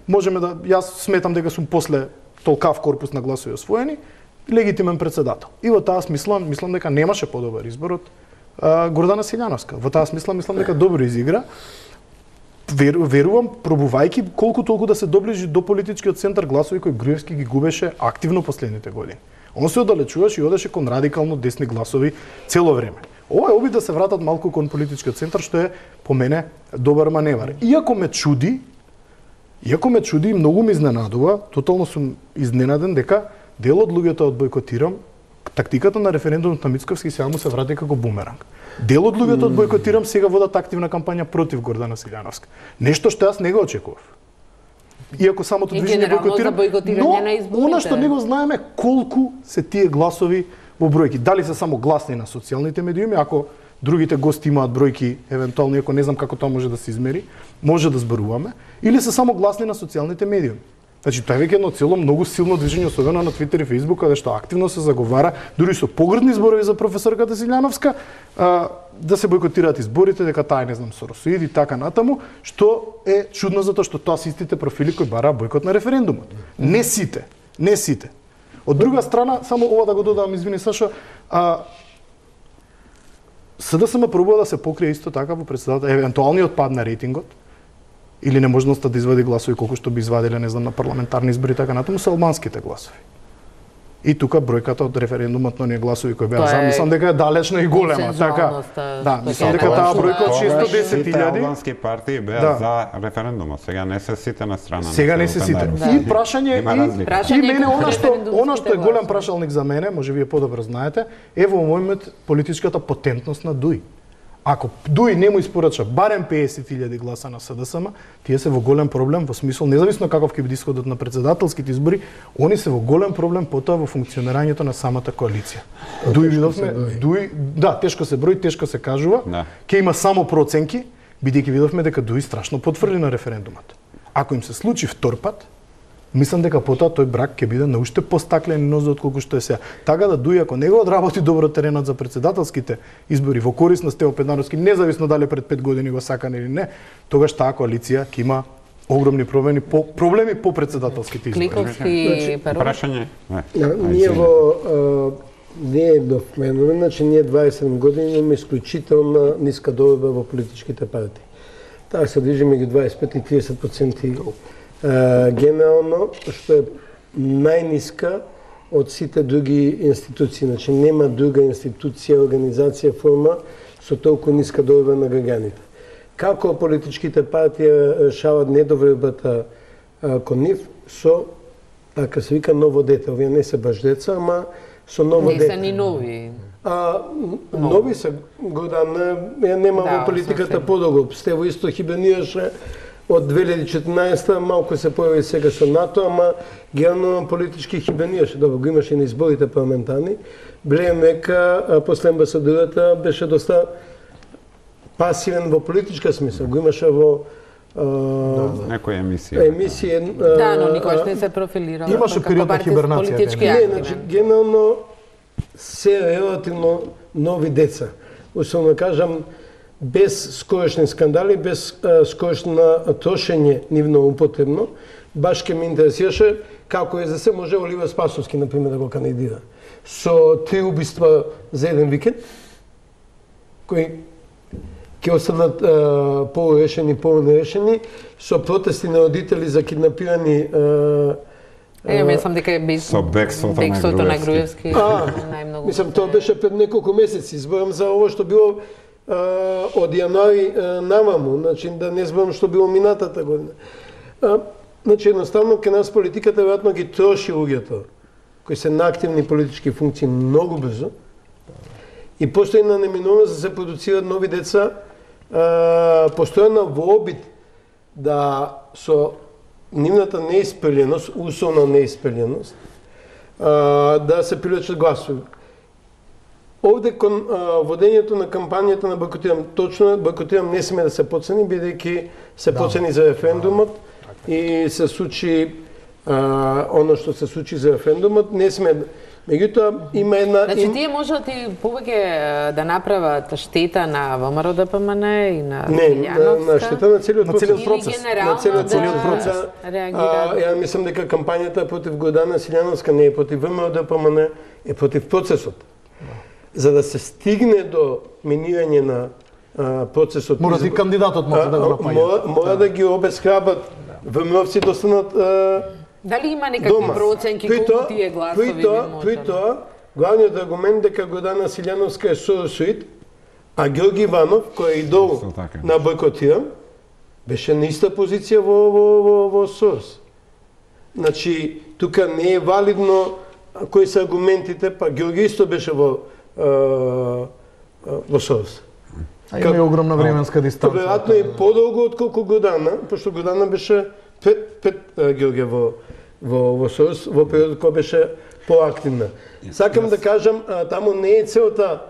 [SPEAKER 2] можеме да, јас сметам дека сум после толкав корпус на гласови освоени, легитимен претседател. И во таа смисла, мислам дека немаше подобар избор од а, Гордана Силјановска. Во таа смисла, мислам дека добро изигра. веру, верувам, пробувајќи колку толку да се доближи до политичкиот центар, гласови кои Груевски ги губеше активно последните години. Он се оддалечуваше и одеше кон радикално десни гласови цело време. Ова е обид да се вратат малку кон политичкиот центар, што е по мене добар маневар. Иако ме чуди, иако ме чуди и многу ме изненадува, тотално сум изненаден дека дел од луѓето од бойкотирам, тактиката на референдумот на Мицковски сега му се врати како бумеранг. Дел од луѓето од бойкотирам сега водат активна кампања против Гордана Силјановска. Нешто што јас не го очекував. Иако самото движење бойкотирам, но она што не го знаеме колку се тие гласови во бројки. Дали се само гласни на социјалните медиуми, ако другите гости имаат бројки, евентуално, иако не знам како тоа може да се измери, може да зборуваме, или се само гласни на социјалните медиуми. Значи, тоа е веќе едно цело многу силно движење, особено на Твитер и Фејсбук, каде што активно се заговара, дури со погрдни зборови за професорката Силјановска, а, да се бойкотираат изборите, дека таа е, не знам, соросоид и така натаму, што е чудно затоа што тоа се истите профили кои бараа бойкот на референдумот. Не сите, не сите. Од друга страна, само ова да го додам, извини Сашо, а, СДСМ пробува да се покрие исто така во председател, евентуалниот пад на рейтингот, или неможноста да извади гласови колку што би извадиле, не знам, на парламентарни избори, така натаму, се албанските гласови. И тука бројката од референдумот на оние гласови кои беа за, мислам дека е далечна и голема, така. Да, мислам дека таа бројка од шестоста и десет илјади.
[SPEAKER 4] Сите албански партии беа
[SPEAKER 2] да.
[SPEAKER 4] за референдумот. Сега не се сите на страна.
[SPEAKER 2] Сега не се сите. Да. И прашање и, и мене она што она што е голем прашалник за мене, може вие подобро знаете, е во момент политичката потентност на Дуј. Ако Дуј не му испорача барем песет илјади гласа на СДСМ, тие се во голем проблем во смисол независно каков ќе биде исходот на председателските избори, они се во голем проблем потоа во функционирањето на самата коалиција. Дуј видовме, Дуј, да, тешко се брои, тешко се кажува. Да. Ќе има само проценки, бидејќи видовме дека Дуј страшно потврди на референдумот. Ако им се случи втор пат, мислам дека потоа тој брак ќе биде на уште постаклени нозе отколку што е сега. Така да Дуј, ако не го одработи добро теренот за председателските избори во корист на Стево Петнаровски, независно дали пред пет години го сакан или не, тогаш таа коалиција ќе има огромни проблеми по проблеми по председателските избори.
[SPEAKER 1] Кликовски
[SPEAKER 4] прашање.
[SPEAKER 5] Ние во не е нов феномен, значи ние дваесет години имаме исклучителна ниска дојба во политичките партии. Таа се движи меѓу дваесет и пет и триесет проценти. Uh, генерално, што е најниска од сите други институции. Значи, нема друга институција, организација, форма со толку ниска дојба на граѓаните. Како политичките партии решават недовербата uh, кон нив? Со, така се вика, ново дете. Овие не се баш деца, ама со ново
[SPEAKER 1] не
[SPEAKER 5] дете.
[SPEAKER 1] Не се ни нови.
[SPEAKER 5] А, нови се, Гордана, нема да, во политиката подолго. Стево исто хибернираше од две илјади и четинаесета, малку се појави сега со НАТО, ама генерално политички хибернираше. Добро, го имаше и на изборите парламентарни. Блеем дека после амбасадората беше доста пасивен во политичка смисла. Го имаше во
[SPEAKER 4] да, некоја емисија.
[SPEAKER 5] Емисија.
[SPEAKER 1] Да, но никош не се профилира.
[SPEAKER 2] Имаше период на хибернација.
[SPEAKER 5] Не, значи генерално се релативно нови деца. Условно кажам, без скорошни скандали, без а, скорошно трошење нивно употребно, баш ке ме интересираше како е за се може Оливер Спасовски, например, да го кандидира. Со три убиства за еден викенд, кои ќе останат а, полурешени, полунерешени, со протести на родители за киднапирани а,
[SPEAKER 1] Е, мислам дека е без
[SPEAKER 4] со бекството на
[SPEAKER 1] Груевски
[SPEAKER 5] најмногу. Мислам, тоа беше пред неколку месеци. Зборам за ово што било Uh, од јануари uh, наваму, значи да не зборам што било минатата година. Uh, значи едноставно кај нас политиката веројатно ги троши луѓето кои се на активни политички функции многу брзо. И постои на неминовност да се продуцираат нови деца, uh, постојано во обид да со нивната неиспеленост, усолна неиспеленост, uh, да се привлечат гласови. Овде кон а, водењето на кампањата на бойкотирам, точно бойкотирам не сме да се поцени, бидејќи се да. поцени за референдумот да. и се случи а, оно што се случи за референдумот, не сме. Меѓутоа има една
[SPEAKER 1] Значи им... тие можат и повеќе да направат штета на ВМРО Д П М Н и на
[SPEAKER 5] Не, на, на штета на целиот процес.
[SPEAKER 2] На процес.
[SPEAKER 5] На целиот
[SPEAKER 1] да
[SPEAKER 5] целиот процес. А, ја мислам дека кампањата против Гордана Силјановска не е против ВМРО Д П М Н, е против процесот. За да се стигне до минирање на процесот.
[SPEAKER 2] Мора и кандидатот може да го направи.
[SPEAKER 5] Мора, мора да ги обесхрабат ВМРО-вци да останат
[SPEAKER 1] дали има некакви проценки колку тие гласови би можело?
[SPEAKER 5] При тоа, главниот аргумент дека Гордана Силјановска е соросоид, а Георги Иванов, кој е идол на бойкотирам, беше на иста позиција во, во, во, во Сорос. Значи, тука не е валидно кои се аргументите, па Георги исто беше во, а, во Сорос.
[SPEAKER 2] А има и огромна временска дистанца.
[SPEAKER 5] Веројатно е подолго отколку Гордана, пошто Гордана беше пред, пред Георгија во, во, во Сорос, во период кој беше поактивна. Сакам да кажам, а, таму не е целта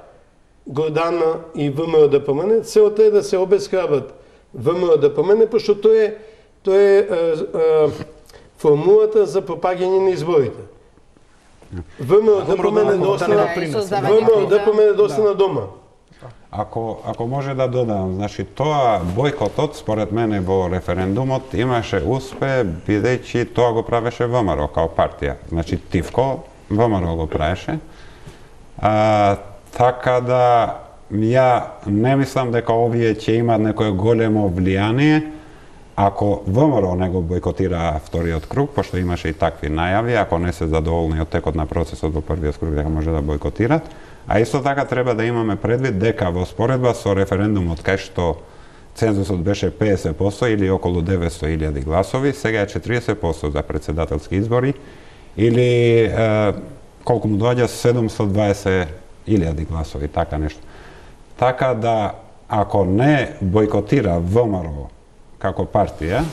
[SPEAKER 5] Гордана и ВМРО-ДПМН, целта е да се обесхрабат ВМРО-ДПМН, пошто тоа е, тоа е а, а, формулата за пропаѓање на изборите. ВМРО-ДПМН достана, ВМРО-ДПМН достана дома.
[SPEAKER 4] Ако, ако може да додам, значи тоа бойкотот според мене во референдумот имаше успех бидејќи тоа го правеше ВМРО као партија. Значи Тивко ВМРО го правеше. А, така да ја не мислам дека овие ќе имаат некое големо влијание ако ВМРО не го бойкотира вториот круг, пошто имаше и такви најави, ако не се задоволни од текот на процесот во првиот круг дека може да бойкотират. А исто така треба да имаме предвид дека во споредба со референдумот кај што цензусот беше педесет проценти или околу деветсто илјади гласови, сега е четиридесет проценти за председателски избори или е, колку му доаѓа седумстотини и дваесет илјади гласови, така нешто. Така да ако не бойкотира ВМРО како партија,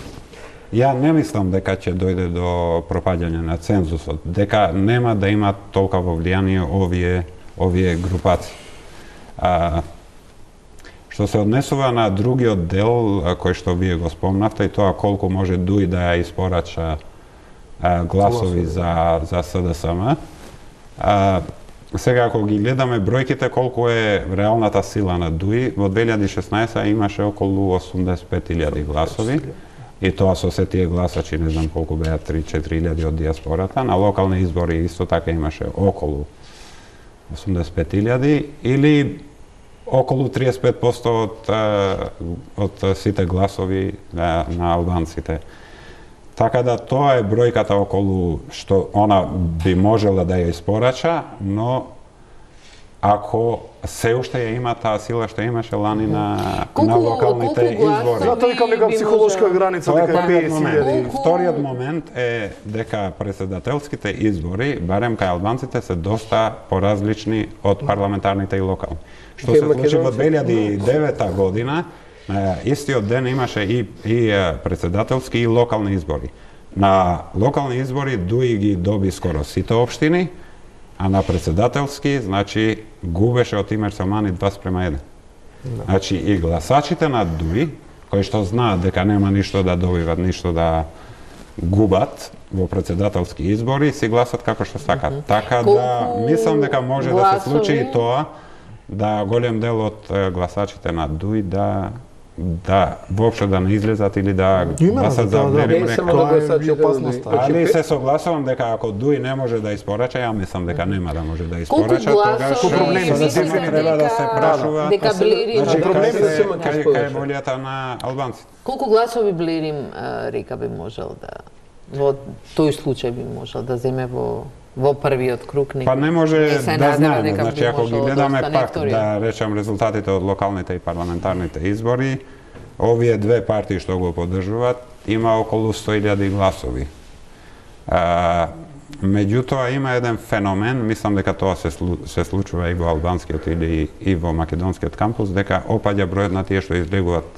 [SPEAKER 4] ја не мислам дека ќе дојде до пропаѓање на цензусот, дека нема да имат толкова влијание овие овие групаци. А, што се однесува на другиот дел кој што вие го спомнавте и тоа колку може ДУИ да ја испорача а, гласови за за СДСМ. А, сега ако ги гледаме бројките колку е реалната сила на ДУИ, во две илјади и шеснаесета имаше околу осумдесет и пет илјади гласови. И тоа со се тие гласачи, не знам колку беа, три-четири илјади од диаспората. На локални избори исто така имаше околу осумдесет и пет илјади или околу триесет и пет проценти од, од сите гласови на, на албанците. Така да тоа е бројката околу што она би можела да ја испорача, но ако се уште ја има таа сила што имаше лани на,
[SPEAKER 1] колку,
[SPEAKER 4] на локалните избори.
[SPEAKER 2] Затоа викам дека психолошка граница дека е педесет илјади.
[SPEAKER 4] Вториот момент е дека председателските избори, барем кај албанците, се доста поразлични од парламентарните и локални. Што се случи во две илјади и девета година, истиот ден имаше и, и председателски и локални избори. На локални избори ДУИ ги доби скоро сите општини, а на председателски, значи, губеше од Тимер Самани два спрема еден. No. Значи, и гласачите на ДУИ, кои што знаат дека нема ништо да добиват, ништо да губат во председателски избори, си гласат како што сакат. Mm -hmm. Така колку да, мислам дека може гласови да се случи и тоа, да голем дел од гласачите на ДУИ да да воопшто да не излезат или да гласат за Берим Река. Али се согласувам дека ако ДУИ не може да испорача, ја мислам дека нема да може да испорача, тогаш проблеми треба да се прашува.
[SPEAKER 1] Дека Блерим,
[SPEAKER 4] значи проблеми да се кај кај волјата на албанците.
[SPEAKER 1] Колку гласови Блерим Река би можел да во тој случај би можел да земе во во првиот круг?
[SPEAKER 4] Па не може не да знаеме, значи ако ги гледаме да пак да речам резултатите од локалните и парламентарните избори, овие две партии што го поддржуваат има околу сто илјади гласови. А, меѓутоа има еден феномен, мислам дека тоа се, се случува и во албанскиот или и во македонскиот кампус, дека опаѓа бројот на тие што излегуваат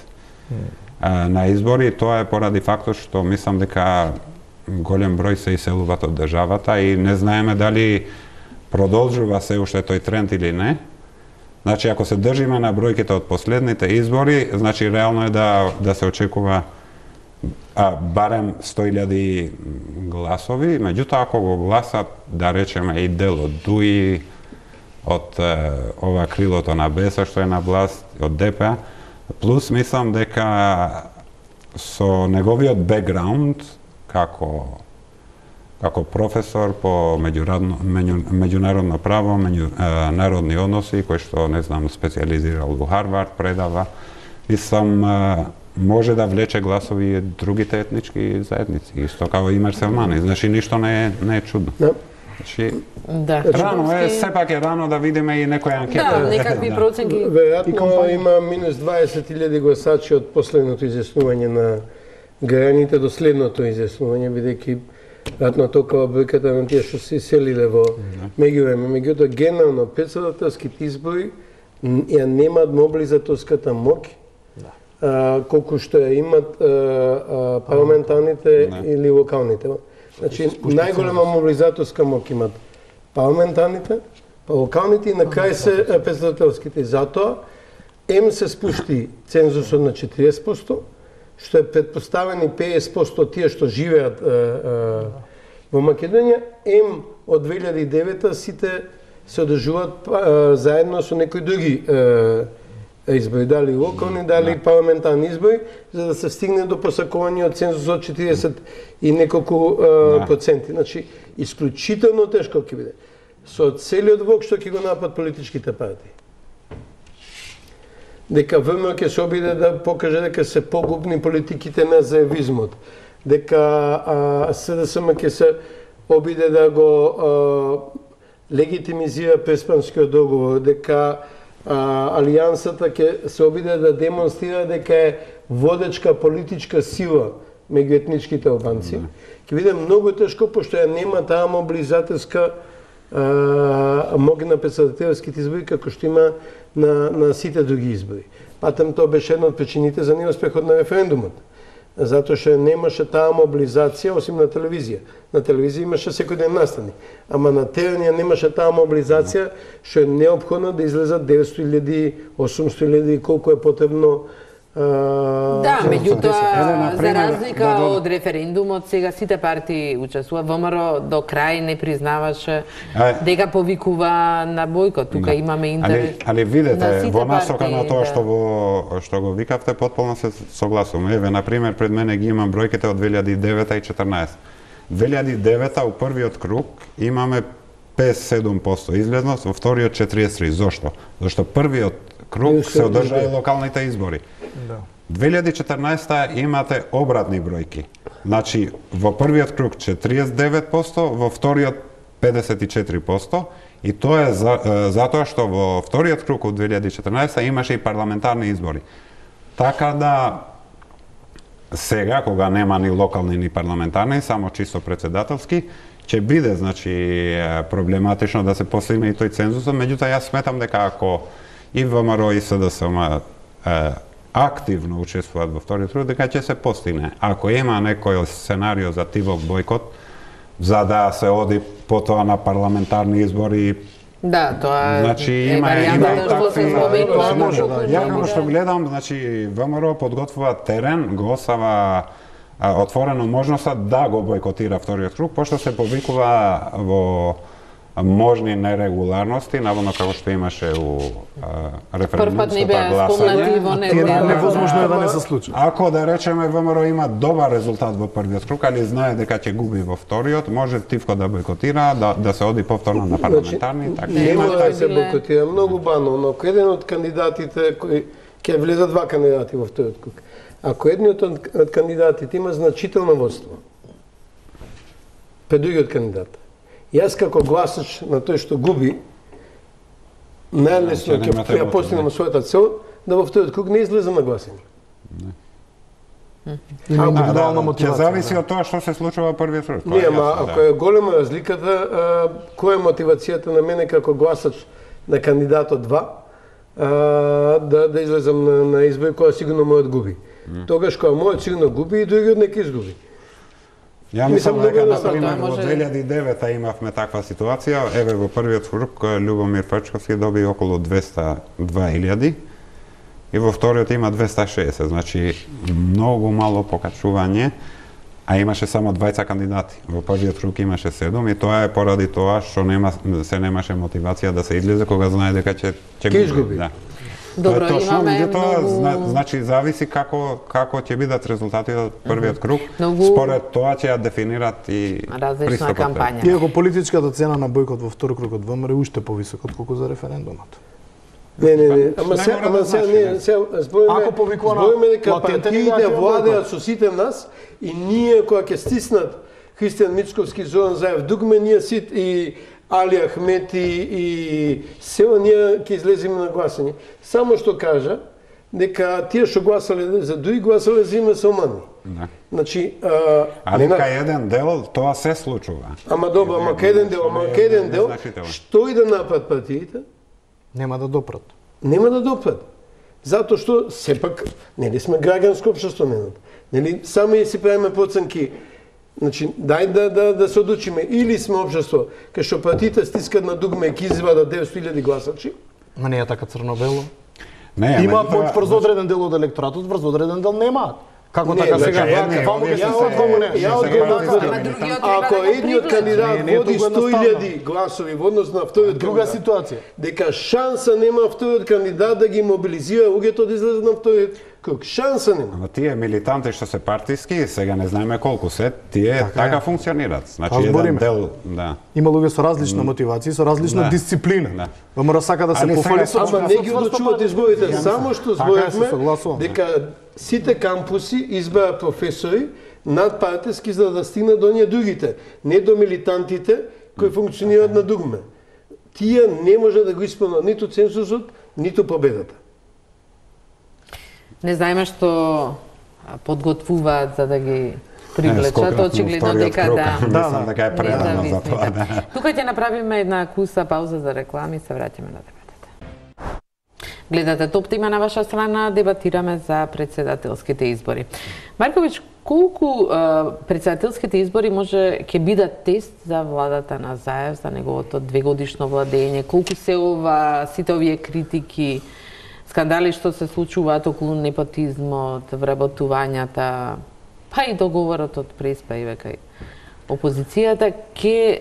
[SPEAKER 4] а, на избори. Тоа е поради фактот што мислам дека голем број се иселуваат од државата и не знаеме дали продолжува се уште тој тренд или не. Значи, ако се држиме на бројките од последните избори, значи реално е да, да се очекува а, барем сто илјади гласови, меѓутоа ако го гласат, да речеме, и дел од ДУИ, од е, ова крилото на БЕСА што е на власт, од ДПА, плюс мислам дека со неговиот бекграунд, како како професор по меѓународно, меѓу, меѓународно право, меѓу, е, народни односи, кој што, не знам, специализирал во Харвард, предава. И сам е, може да влече гласови и другите етнички заедници. Исто како и мусулмани. Значи, ништо не е, не е чудно.
[SPEAKER 5] Да.
[SPEAKER 4] Значи,
[SPEAKER 1] Да.
[SPEAKER 4] рано е, сепак е рано да видиме и некоја анкета.
[SPEAKER 1] Да, некакви проценки.
[SPEAKER 5] Веројатно има минус дваесет илјади гласачи од последното изјаснување на граѓаните до следното изјаснување, бидејќи веројатно толкова бројката на тие што се иселиле во меѓувреме. Меѓутоа, генерално претседателските избори ја немаат мобилизаторската моќ, а, колку што ја имат а, а, парламентарните
[SPEAKER 4] Не.
[SPEAKER 5] или локалните. Значи, најголема мобилизаторска моќ имат парламентарните, па локалните и на крај се а, претседателските. Затоа, ем се спушти цензусот на четириесет проценти, што е предпоставени педесет проценти од тие што живеат а, а, во Македонија, ем од две илјади и девета сите се одржуваат а, заедно со некои други а, избори, дали локални, дали да. парламентарни избори, за да се стигне до посакување од цензус од четириесет и неколку а, да. проценти. Значи, исклучително тешко ќе биде. Со целиот влог што ќе го напад политичките партии. Дека ВМРО ќе се обиде да покаже дека се погубни политиките на заевизмот. Дека а, СДСМ ќе се обиде да го а, легитимизира Преспанскиот договор, дека а, Алијансата ќе се обиде да демонстрира дека е водечка политичка сила меѓу етничките албанци. Mm. Ќе биде многу тешко, пошто ја нема таа мобилизаторска моги на претседателските избори, како што има на, на сите други избори. Патем тоа беше една од причините за неуспехот на референдумот. Затоа што немаше таа мобилизација, осим на телевизија. На телевизија имаше секој ден настани. Ама на терен ја немаше таа мобилизација, што е неопходно да излезат деветсто илјади, осумсто илјади, колку е потребно.
[SPEAKER 1] Да, меѓутоа, за разлика да, да, од референдумот, сега сите партии учествуваат. ВМРО до крај не признаваше а, дека повикува на бојкот. Тука да. имаме интерес.
[SPEAKER 4] Али, али видете, во насока на тоа што го што го викавте, потполно се согласувам. Еве, на пример, пред мене ги имам бројките од две илјади и девета и четрнаесет. две илјади и девета у првиот круг имаме песет и седум проценти излезност, во вториот четириесет и три. Зошто? Зашто првиот круг се одржа и локалните избори. Да. две илјади и четрнаесета имате обратни бројки. Значи, во првиот круг четириесет и девет проценти, во вториот педесет и четири проценти, и тоа е за, затоа што во вториот круг од две илјади и четрнаесета имаше и парламентарни избори. Така да, сега, кога нема ни локални ни парламентарни, само чисто председателски, ќе биде, значи, проблематично да се постигне и тој цензус, меѓутоа јас сметам дека ако и ВМРО и СДСМ активно учествуваат во вториот круг, дека ќе се постигне. Ако има некој сценарио за тивок бојкот, за да се оди потоа на парламентарни избори,
[SPEAKER 1] да, тоа
[SPEAKER 4] значи
[SPEAKER 1] е
[SPEAKER 4] има има такви.
[SPEAKER 2] Тоа може да.
[SPEAKER 4] Ја како што гледам, значи ВМРО подготвува терен, го осава отворено можноста да го бојкотира вториот круг, пошто се повикува во можни нерегуларности, наводно како што имаше у референдумското гласање.
[SPEAKER 2] Невозможно е да не се случи.
[SPEAKER 4] Ако да речеме ВМРО има добар резултат во првиот круг, али знае дека ќе губи во вториот, може тивко да бојкотира, да да се оди повторно на парламентарни, така
[SPEAKER 5] нема да се бојкотира, многу банално. Ако еден од кандидатите кои ќе влезат два кандидати во вториот круг. Ако едниот од кандидатите има значително водство пред другиот кандидат, јас како гласач на тој што губи, најлесно ќе ја постигнам својата цел, да во вториот круг не излезам на гласање.
[SPEAKER 2] Има индивидуална мотивација.
[SPEAKER 4] Ќе зависи од тоа што се случува во првиот круг.
[SPEAKER 5] Не, ама ако е голема разликата, која е мотивацијата на мене како гласач на кандидатот два, да да излезам на, на избори која сигурно мојот губи. Тогаш кога мојот сигурно губи и другиот нека изгуби.
[SPEAKER 4] Ја мислам дека, например, во две илјади и девета имавме таква ситуација. Еве, во првиот круг Љубомир Пачковски доби околу двеста и две илјади и во вториот има двеста и шеесет, значи многу мало покачување, а имаше само двајца кандидати. Во првиот круг имаше седум и тоа е поради тоа што нема се немаше мотивација да се излезе кога знае дека ќе ќе
[SPEAKER 5] изгуби.
[SPEAKER 4] Да.
[SPEAKER 1] Добро,
[SPEAKER 4] Тоа е точно,
[SPEAKER 1] имаме
[SPEAKER 4] меѓутоа,
[SPEAKER 1] многу...
[SPEAKER 4] зна, значи зависи како како ќе бидат резултатите од првиот круг.
[SPEAKER 1] Многу...
[SPEAKER 4] Според тоа ќе ја дефинират и
[SPEAKER 1] различна
[SPEAKER 4] пристапот.
[SPEAKER 1] кампања.
[SPEAKER 2] Иако политичката цена на бојкот во втор круг од ВМРО е уште повисока отколку за референдумот.
[SPEAKER 5] Не, не, не. Ама
[SPEAKER 4] Не
[SPEAKER 5] се,
[SPEAKER 4] мора
[SPEAKER 5] ама
[SPEAKER 4] да
[SPEAKER 5] се,
[SPEAKER 4] значи,
[SPEAKER 5] не,
[SPEAKER 2] не.
[SPEAKER 5] се, збориме,
[SPEAKER 2] Ако повикува на
[SPEAKER 5] збориме дека
[SPEAKER 2] латентен
[SPEAKER 5] партиите
[SPEAKER 2] играч,
[SPEAKER 5] владеат со сите нас и ние кога ќе стиснат Христијан Мицковски, Зоран Заев, дугме ние сит и Али Ахмети и сева ние ќе излеземе на гласање. Само што кажа дека тие што гласале за други гласале за име со мани.
[SPEAKER 4] Да.
[SPEAKER 5] Значи, а,
[SPEAKER 4] Али
[SPEAKER 5] нема-
[SPEAKER 4] кај еден дел тоа се случува.
[SPEAKER 5] ама добро, ама кај еден дел, ама кај еден дел,
[SPEAKER 4] Незначително.
[SPEAKER 5] што и да направат партиите,
[SPEAKER 2] Нема да допрат.
[SPEAKER 5] нема да допрат. Затоа што сепак нели сме граѓанско општество менат. Нели сами си правиме проценки. Значи дај да да да се одлучиме или сме општество кај што партиите стискат на дугме и ќе извадат деветстотини илјади гласачи.
[SPEAKER 2] Ма не е така црно-бело.
[SPEAKER 4] Не,
[SPEAKER 2] Имаат
[SPEAKER 4] меѓутоа,
[SPEAKER 2] моќ врз одреден дел од електоратот, врз одреден дел немаат. Како
[SPEAKER 5] Не,
[SPEAKER 2] така
[SPEAKER 5] значи,
[SPEAKER 2] сега?
[SPEAKER 4] едни,
[SPEAKER 2] Ваму
[SPEAKER 4] овие
[SPEAKER 2] ги
[SPEAKER 4] се-
[SPEAKER 2] стават, ваму не.
[SPEAKER 5] Ја од
[SPEAKER 4] сега
[SPEAKER 5] една
[SPEAKER 4] партиски
[SPEAKER 5] страна,
[SPEAKER 1] другиот
[SPEAKER 5] ако
[SPEAKER 1] треба да
[SPEAKER 5] едниот
[SPEAKER 1] приближи.
[SPEAKER 5] кандидат
[SPEAKER 2] Не, не е
[SPEAKER 5] води
[SPEAKER 2] толку
[SPEAKER 5] сто
[SPEAKER 2] едноставно.
[SPEAKER 5] илјади гласови во однос на вториот
[SPEAKER 2] Друга
[SPEAKER 5] кандидат,
[SPEAKER 2] ситуација.
[SPEAKER 5] дека шанса нема вториот кандидат да ги мобилизира луѓето да излезат на вториот круг. Шанса нема.
[SPEAKER 4] Ама тие милитанти што се партиски, сега не знаеме колку се, тие така,
[SPEAKER 2] е.
[SPEAKER 4] така функционираат. Значи
[SPEAKER 2] Па
[SPEAKER 4] еден
[SPEAKER 2] збориме.
[SPEAKER 4] дел, да.
[SPEAKER 2] Има луѓе со различна мотивација, со различна
[SPEAKER 4] Да.
[SPEAKER 2] дисциплина.
[SPEAKER 4] Да.
[SPEAKER 2] ВМРО сака да се
[SPEAKER 4] Али
[SPEAKER 2] пофали
[SPEAKER 4] сега
[SPEAKER 2] со
[SPEAKER 5] Ама не ги одлучуваат изборите, само што
[SPEAKER 2] Така е, се
[SPEAKER 5] зборевме
[SPEAKER 2] согласувам.
[SPEAKER 5] дека сите кампуси избраат професори надпартиски за да стигнат до ние другите, не до милитантите кои функционираат на дугме. Тие не може да го исполнат ниту цензусот, ниту победата.
[SPEAKER 1] Не знаеме што подготвуваат за да ги привлечат,
[SPEAKER 4] скокнат на
[SPEAKER 1] очигледно
[SPEAKER 4] вториот
[SPEAKER 1] дека
[SPEAKER 4] круг,
[SPEAKER 1] да.
[SPEAKER 4] мислам дека е предано за
[SPEAKER 1] независните.
[SPEAKER 4] тоа, да.
[SPEAKER 1] Тука ќе направиме една куса пауза за реклами и се враќаме на дебатата. Гледате Топ тема на ваша страна, дебатираме за председателските избори. Марковиќ, колку а, председателските избори може ќе бидат тест за владата на Заев, за неговото двегодишно владење? Колку се ова, сите овие критики, скандали што се случуваат околу непотизмот, вработувањата, па и договорот од Преспа и века опозицијата ќе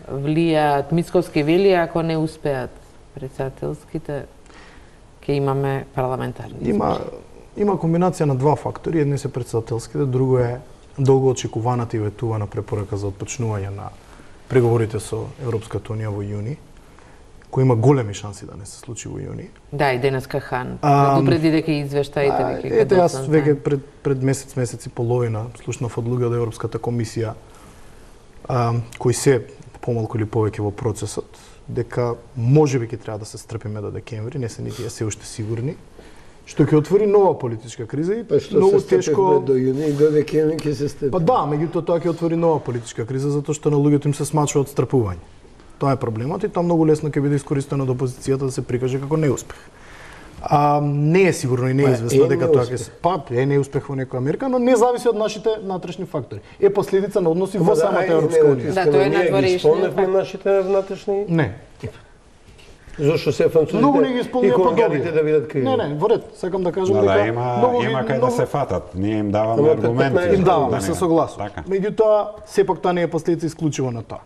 [SPEAKER 1] влијаат, Мицковски вели, ако не успеат председателските, ќе имаме парламентарни избори.
[SPEAKER 2] Има има комбинација на два фактори, едни се председателските, друго е долго очекуваната и ветувана препорака за отпочнување на преговорите со Европската унија во јуни, кој има големи шанси да не се случи во јуни.
[SPEAKER 1] Да, и денеска Хан.
[SPEAKER 2] Ам,
[SPEAKER 1] Предупреди дека извештаите
[SPEAKER 2] А,
[SPEAKER 1] веќе
[SPEAKER 2] Ете, јас
[SPEAKER 1] доцна
[SPEAKER 2] веќе
[SPEAKER 1] знаат.
[SPEAKER 2] пред, пред месец, месец и половина слушнав од луѓе од Европската комисија а, кои се помалку или повеќе во процесот, дека можеби ќе треба да се стрпиме до декември, не се нити е се уште сигурни, што ќе отвори нова политичка криза и
[SPEAKER 5] Па што
[SPEAKER 2] многу
[SPEAKER 5] се степевме
[SPEAKER 2] тешко.
[SPEAKER 5] до јуни и до декември ќе се степи.
[SPEAKER 2] Па да, меѓутоа тоа ќе отвори нова политичка криза затоа што на луѓето им се смачува од стрпување. Тоа е проблемот и тоа многу лесно ќе биде искористено од опозицијата да се прикаже како неуспех. А, не е сигурно и не е
[SPEAKER 5] Па,
[SPEAKER 2] известно
[SPEAKER 5] е
[SPEAKER 2] дека тоа ќе
[SPEAKER 5] неуспех.
[SPEAKER 2] се па е неуспех во некоја мерка, но не зависи од нашите натрешни фактори. Е последица на односи
[SPEAKER 5] Ама
[SPEAKER 2] во
[SPEAKER 5] да,
[SPEAKER 2] самата
[SPEAKER 5] ајде,
[SPEAKER 2] Европска
[SPEAKER 5] не,
[SPEAKER 2] унија.
[SPEAKER 1] Да, тоа е
[SPEAKER 5] ние ги
[SPEAKER 1] надворешниот
[SPEAKER 5] исполневме
[SPEAKER 1] факт.
[SPEAKER 5] нашите внатрешни.
[SPEAKER 2] Не.
[SPEAKER 5] Зошто се французите
[SPEAKER 2] Многу не ги
[SPEAKER 5] и
[SPEAKER 2] исполнија
[SPEAKER 5] колонијалите
[SPEAKER 2] подобри.
[SPEAKER 5] да видат криви.
[SPEAKER 2] Не, не, во ред, сакам да кажам
[SPEAKER 4] Да,
[SPEAKER 2] дека
[SPEAKER 4] да, има,
[SPEAKER 2] многу ги-
[SPEAKER 4] има кај да
[SPEAKER 2] многу-
[SPEAKER 4] се фатат. Ние им даваме
[SPEAKER 5] Ама пред
[SPEAKER 4] аргументи.
[SPEAKER 5] петнаесет
[SPEAKER 2] Им даваме,
[SPEAKER 4] Да,
[SPEAKER 2] се
[SPEAKER 4] не.
[SPEAKER 2] согласувам.
[SPEAKER 4] Така.
[SPEAKER 2] Меѓутоа, сепак тоа не е последица исклучиво на тоа.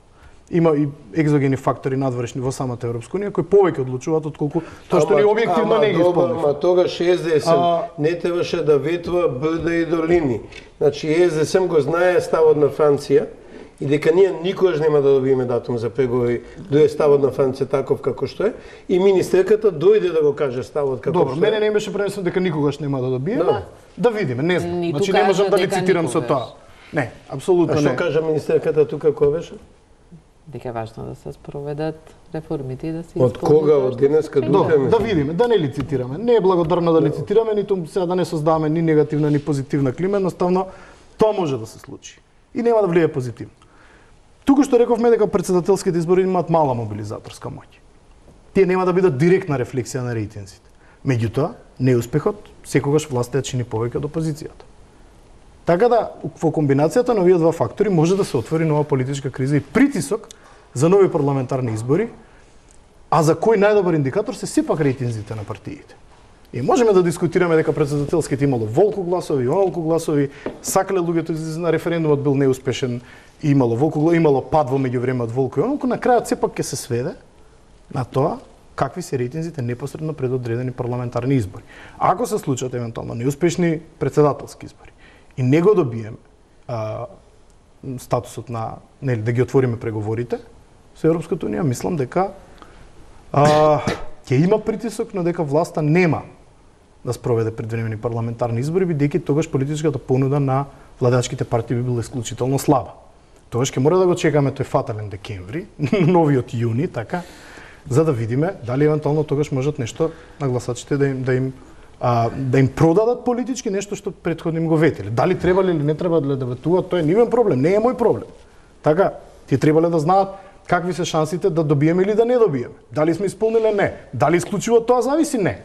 [SPEAKER 2] Има и екзогени фактори надворешни во самата Европска унија кои повеќе одлучуваат отколку тоа што
[SPEAKER 5] Ама-
[SPEAKER 2] ни објективно
[SPEAKER 5] ама
[SPEAKER 2] не ги
[SPEAKER 5] добро,
[SPEAKER 2] исполнивме.
[SPEAKER 5] Ама тогаш Ес Де Ес Ем
[SPEAKER 2] А-
[SPEAKER 5] не требаше да ветува брда и долини. Значи Ес Де Ес Ем го знае ставот на Франција и дека ние никогаш нема да добиеме датум за преговори, дое ставот на Франција таков како што е, и министерката дојде да го каже ставот како
[SPEAKER 2] Добро,
[SPEAKER 5] што
[SPEAKER 2] мене
[SPEAKER 5] е.
[SPEAKER 2] не беше пренесено дека никогаш нема да добиеме.
[SPEAKER 5] Да.
[SPEAKER 2] Да видиме, не знам.
[SPEAKER 1] Ниту
[SPEAKER 2] Значи не можам
[SPEAKER 1] кажа
[SPEAKER 2] да
[SPEAKER 1] дека
[SPEAKER 2] лицитирам со
[SPEAKER 1] никогаш.
[SPEAKER 2] тоа. Не,
[SPEAKER 5] А
[SPEAKER 2] апсолутно
[SPEAKER 5] што
[SPEAKER 2] не.
[SPEAKER 5] кажа министерката тука која беше?
[SPEAKER 1] Дека е важно да се спроведат реформите и да се
[SPEAKER 5] Од кога, од денеска до
[SPEAKER 2] Добро,
[SPEAKER 5] утре?
[SPEAKER 2] да видиме, да не лицитираме. Не е благодарно да лицитираме, ниту сега да не создаваме ни негативна, ни позитивна клима, едноставно тоа може да се случи. И нема да влие позитивно. Туку што рековме дека председателските избори имаат мала мобилизаторска моќ. Тие нема да бидат директна рефлексија на рейтинзите. Меѓутоа, неуспехот секогаш власта ја чини повеќе од опозицијата. Така да, во комбинацијата на овие два фактори може да се отвори нова политичка криза и притисок за нови парламентарни избори, а за кој најдобар индикатор се сепак рейтинзите на партиите. И можеме да дискутираме дека председателските имало волку гласови, онолку гласови, сакале луѓето излезе на референдумот бил неуспешен, имало волку, имало пад во меѓувреме од волку и онолку, на крајот сепак ќе се сведе на тоа какви се рейтинзите непосредно пред одредени парламентарни избори. Ако се случат евентуално неуспешни председателски избори и не го добиеме а, статусот на, нели, да ги отвориме преговорите со Европската унија, мислам дека а, ќе има притисок, но дека власта нема да спроведе предвремени парламентарни избори, бидејќи тогаш политичката понуда на владачките партии би била исклучително слаба. Тогаш ќе мора да го чекаме тој фатален декември, новиот јуни, така, за да видиме дали евентуално тогаш можат нешто на гласачите да им да им а, да им продадат политички нешто што претходно им го ветеле. Дали требале или не требале да ветуваат, тоа е нивен проблем, не е мој проблем. Така, ти требале да знаат какви се шансите да добиеме или да не добиеме. Дали сме исполниле не. Дали исклучиво тоа зависи не.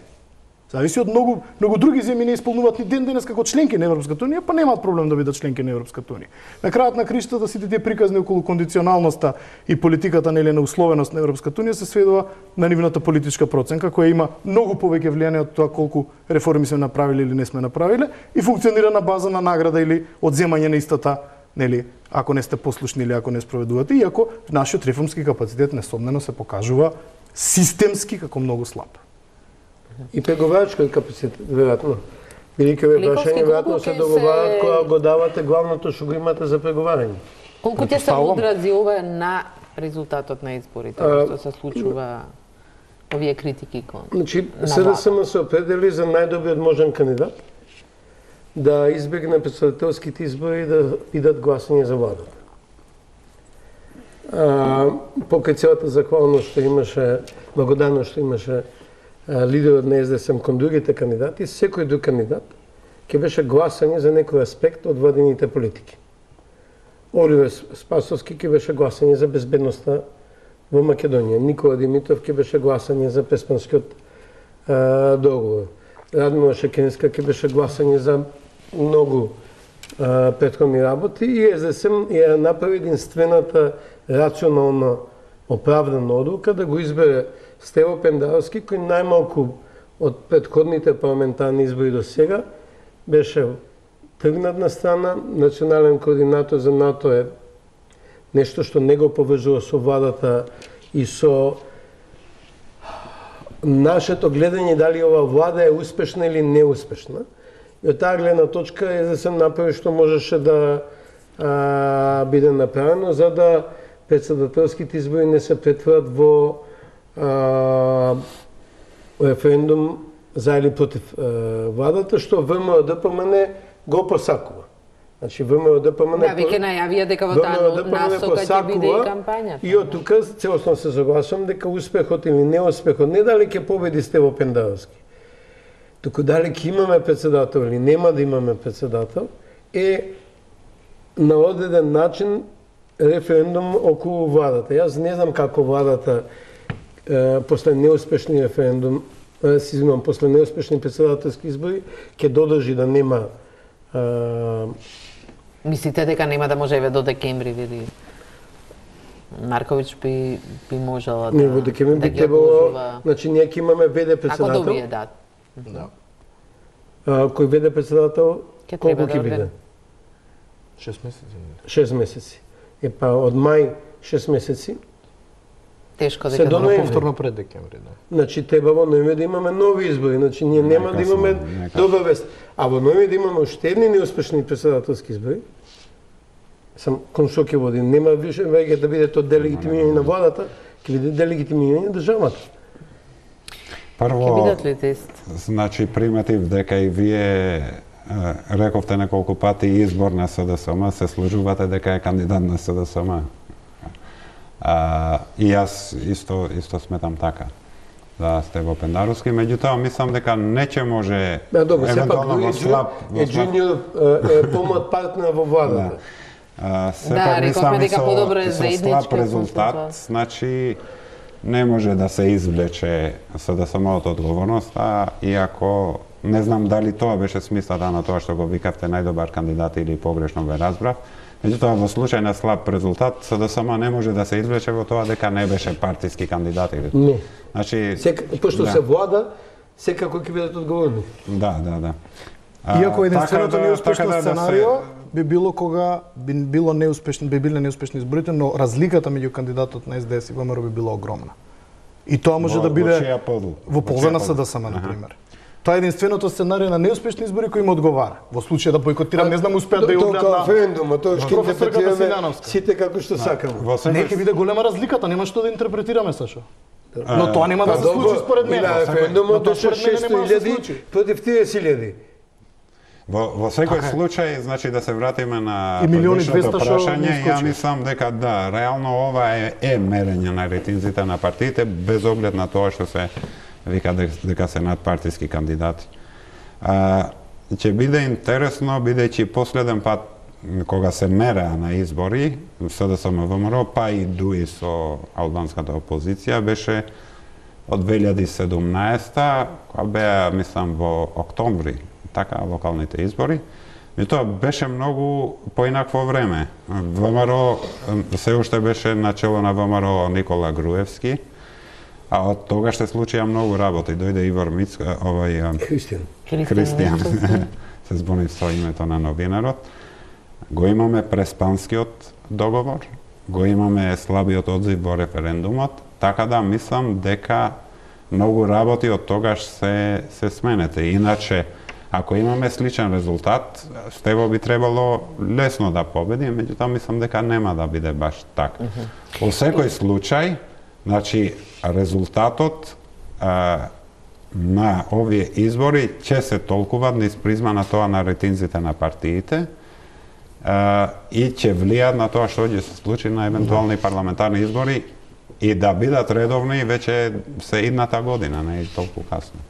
[SPEAKER 2] Зависи од многу многу други земји не исполнуваат ни ден денес како членки на Европската унија, па немаат проблем да бидат членки на Европската унија. На крајот на криштата сите тие приказни околу кондиционалноста и политиката нели на условеност на Европската унија се сведува на нивната политичка проценка која има многу повеќе влијание од тоа колку реформи сме направиле или не сме направиле и функционира на база на награда или одземање на истата, нели, ако не сте послушни или ако не спроведувате, иако нашиот реформски капацитет несомнено се покажува системски како многу слаб.
[SPEAKER 5] И преговарачкиот капацитет, веројатно. Бидејќи ве прашање веројатно се договарат кога го давате главното што го имате за преговарање.
[SPEAKER 1] Колку ќе се одрази ова на резултатот на изборите, што се случува овие критики кон?
[SPEAKER 5] Значи, СДСМ се определи за најдобриот можен кандидат да избегне претседателските избори и да бидат гласање за владата. Покрај целата захвалност што имаше, благодарност што имаше лидерот на СДСМ кон другите кандидати, секој друг кандидат ќе беше гласање за некој аспект од владините политики. Оливер Спасовски ќе беше гласање за безбедноста во Македонија. Никола Димитров ќе беше гласање за Преспанскиот договор. Радмила Шекеринска ќе беше гласање за многу а, претходни работи и СДСМ ја направи единствената рационална оправдана одлука да го избере Стево Пендаровски, кој најмалку од претходните парламентарни избори до сега беше тргнат на страна. Национален координатор за НАТО е нешто што не го поврзува со владата и со нашето гледање дали ова влада е успешна или неуспешна. И од таа гледна точка СДСМ направи што можеше да а, биде направено за да председателските избори не се претворат во а, референдум за или против а, владата, што ВМРО-ДПМН го посакува. Значи ВМРО-ДПМН
[SPEAKER 1] Да, веќе најавија дека во таа насока ќе биде и кампањата.
[SPEAKER 5] И од тука целосно се согласувам дека успехот или неуспехот не дали ќе победи Стево Пендаровски, туку дали ќе имаме председател или нема да имаме председател, е на одреден начин референдум околу владата. Јас не знам како владата е, после неуспешни референдум, е, си извинувам, после неуспешни председателски избори ќе додржи да нема. е,
[SPEAKER 1] Мислите дека нема да може еве до декември или Марковиќ би би можела да
[SPEAKER 5] Не, во декември би требало, значи ние ќе имаме веде председател.
[SPEAKER 1] Ако добие, да.
[SPEAKER 2] Да.
[SPEAKER 5] А, кој веде председател,
[SPEAKER 1] Ке
[SPEAKER 5] колку
[SPEAKER 1] треба
[SPEAKER 5] ќе
[SPEAKER 1] да
[SPEAKER 5] биде?
[SPEAKER 1] одведе.
[SPEAKER 2] шест месеци.
[SPEAKER 5] шест месеци. Е па од мај шест месеци.
[SPEAKER 1] Тешко
[SPEAKER 5] Се
[SPEAKER 1] дека
[SPEAKER 5] до
[SPEAKER 1] да
[SPEAKER 5] ноември.
[SPEAKER 2] Повторно пред декември, да.
[SPEAKER 5] Значи треба во ноември да имаме нови избори, значи ние нема да имаме добра вест. А во ноември да имаме уште едни неуспешни председателски избори. Сам кон што ќе води, нема више веќе да биде тоа делегитимирање на владата, ќе биде делегитимирање на државата.
[SPEAKER 4] Прво,
[SPEAKER 1] Ќе бидат ли тест?
[SPEAKER 4] значи приметив дека и вие е, рековте неколку пати избор на СДСМ, се служувате дека е кандидат на СДСМ. А, и јас исто исто сметам така. Да, Стево Пендаровски, меѓутоа мислам дека не ќе може
[SPEAKER 5] Да, добро, сепак
[SPEAKER 4] евентуално
[SPEAKER 5] дури
[SPEAKER 4] во слаб
[SPEAKER 5] е джуниор е, е помлад партнер во владата.
[SPEAKER 4] А,
[SPEAKER 1] Да,
[SPEAKER 4] сепак
[SPEAKER 1] рековме
[SPEAKER 4] мислам и
[SPEAKER 1] дека
[SPEAKER 4] со,
[SPEAKER 1] подобро е
[SPEAKER 4] со
[SPEAKER 1] заеднички
[SPEAKER 4] слаб резултат,
[SPEAKER 1] консенсус.
[SPEAKER 4] значи не може да се извлече СДСМ од одговорноста, иако не знам дали тоа беше смислата на тоа што го викавте најдобар кандидат или погрешно ве разбрав. Меѓутоа во случај на слаб резултат СДСМ не може да се извлече во тоа дека не беше партиски кандидат или.
[SPEAKER 5] Не.
[SPEAKER 4] Значи
[SPEAKER 5] Сека, пошто
[SPEAKER 4] да.
[SPEAKER 5] се влада, секако ќе бидат одговорни.
[SPEAKER 4] Да, да, да. А,
[SPEAKER 2] Иако единственото
[SPEAKER 4] така да-
[SPEAKER 2] неуспешно
[SPEAKER 4] така да да
[SPEAKER 2] сценарио
[SPEAKER 4] се-
[SPEAKER 2] би било кога би било неуспешни, би биле неуспешни изборите, но разликата меѓу кандидатот на ес де ес и ВМРО би била огромна. И тоа може
[SPEAKER 4] во,
[SPEAKER 2] да биде
[SPEAKER 4] во,
[SPEAKER 2] во полза на СДСМ, на пример. Тоа е единственото сценарио на неуспешни избори кој им одговара. Во случај да бойкотирам, не знам, успеат да ја одбранат
[SPEAKER 5] на референдумот, тоа што интерпретираме сите како што сакаме.
[SPEAKER 2] Не ќе биде голема разликата, нема што да интерпретираме, Сашо. Но тоа нема да се случи според мене.
[SPEAKER 5] На референдумот беше шестоста илјади против триесет илјади.
[SPEAKER 4] Во, во секој okay. случај, значи да се вратиме на
[SPEAKER 2] предишното
[SPEAKER 4] прашање, ја мислам дека да, реално ова е, е мерење на рейтинзите на партиите, без оглед на тоа што се вика дека се надпартиски кандидати. А, ќе биде интересно, бидејќи последен пат кога се мереа на избори, СДСМ ВМРО, па и дуи со албанската опозиција, беше од две илјади и седумнаесета, кога беа, мислам, во октомври, така, локалните избори. И тоа беше многу поинакво време. ВМРО, се уште беше начело на ВМРО Никола Груевски, а од тогаш се случија многу работи. Дојде Ивор Мицка, овај
[SPEAKER 5] Христијан.
[SPEAKER 4] Христијан. Се збуни со името на новинарот. Го имаме Преспанскиот договор, го имаме слабиот одзив во референдумот, така да мислам дека многу работи од тогаш се се сменете. Иначе, ако имаме сличен резултат, Стево би требало лесно да победи, меѓутоа мислам дека нема да биде баш така. Во секој случај, значи резултатот а, на овие избори ќе се толкува низ призма на тоа на рейтинзите на партиите а, и ќе влијат на тоа што ќе се случи на евентуални парламентарни избори и да бидат редовни веќе се идната година, не е толку касно.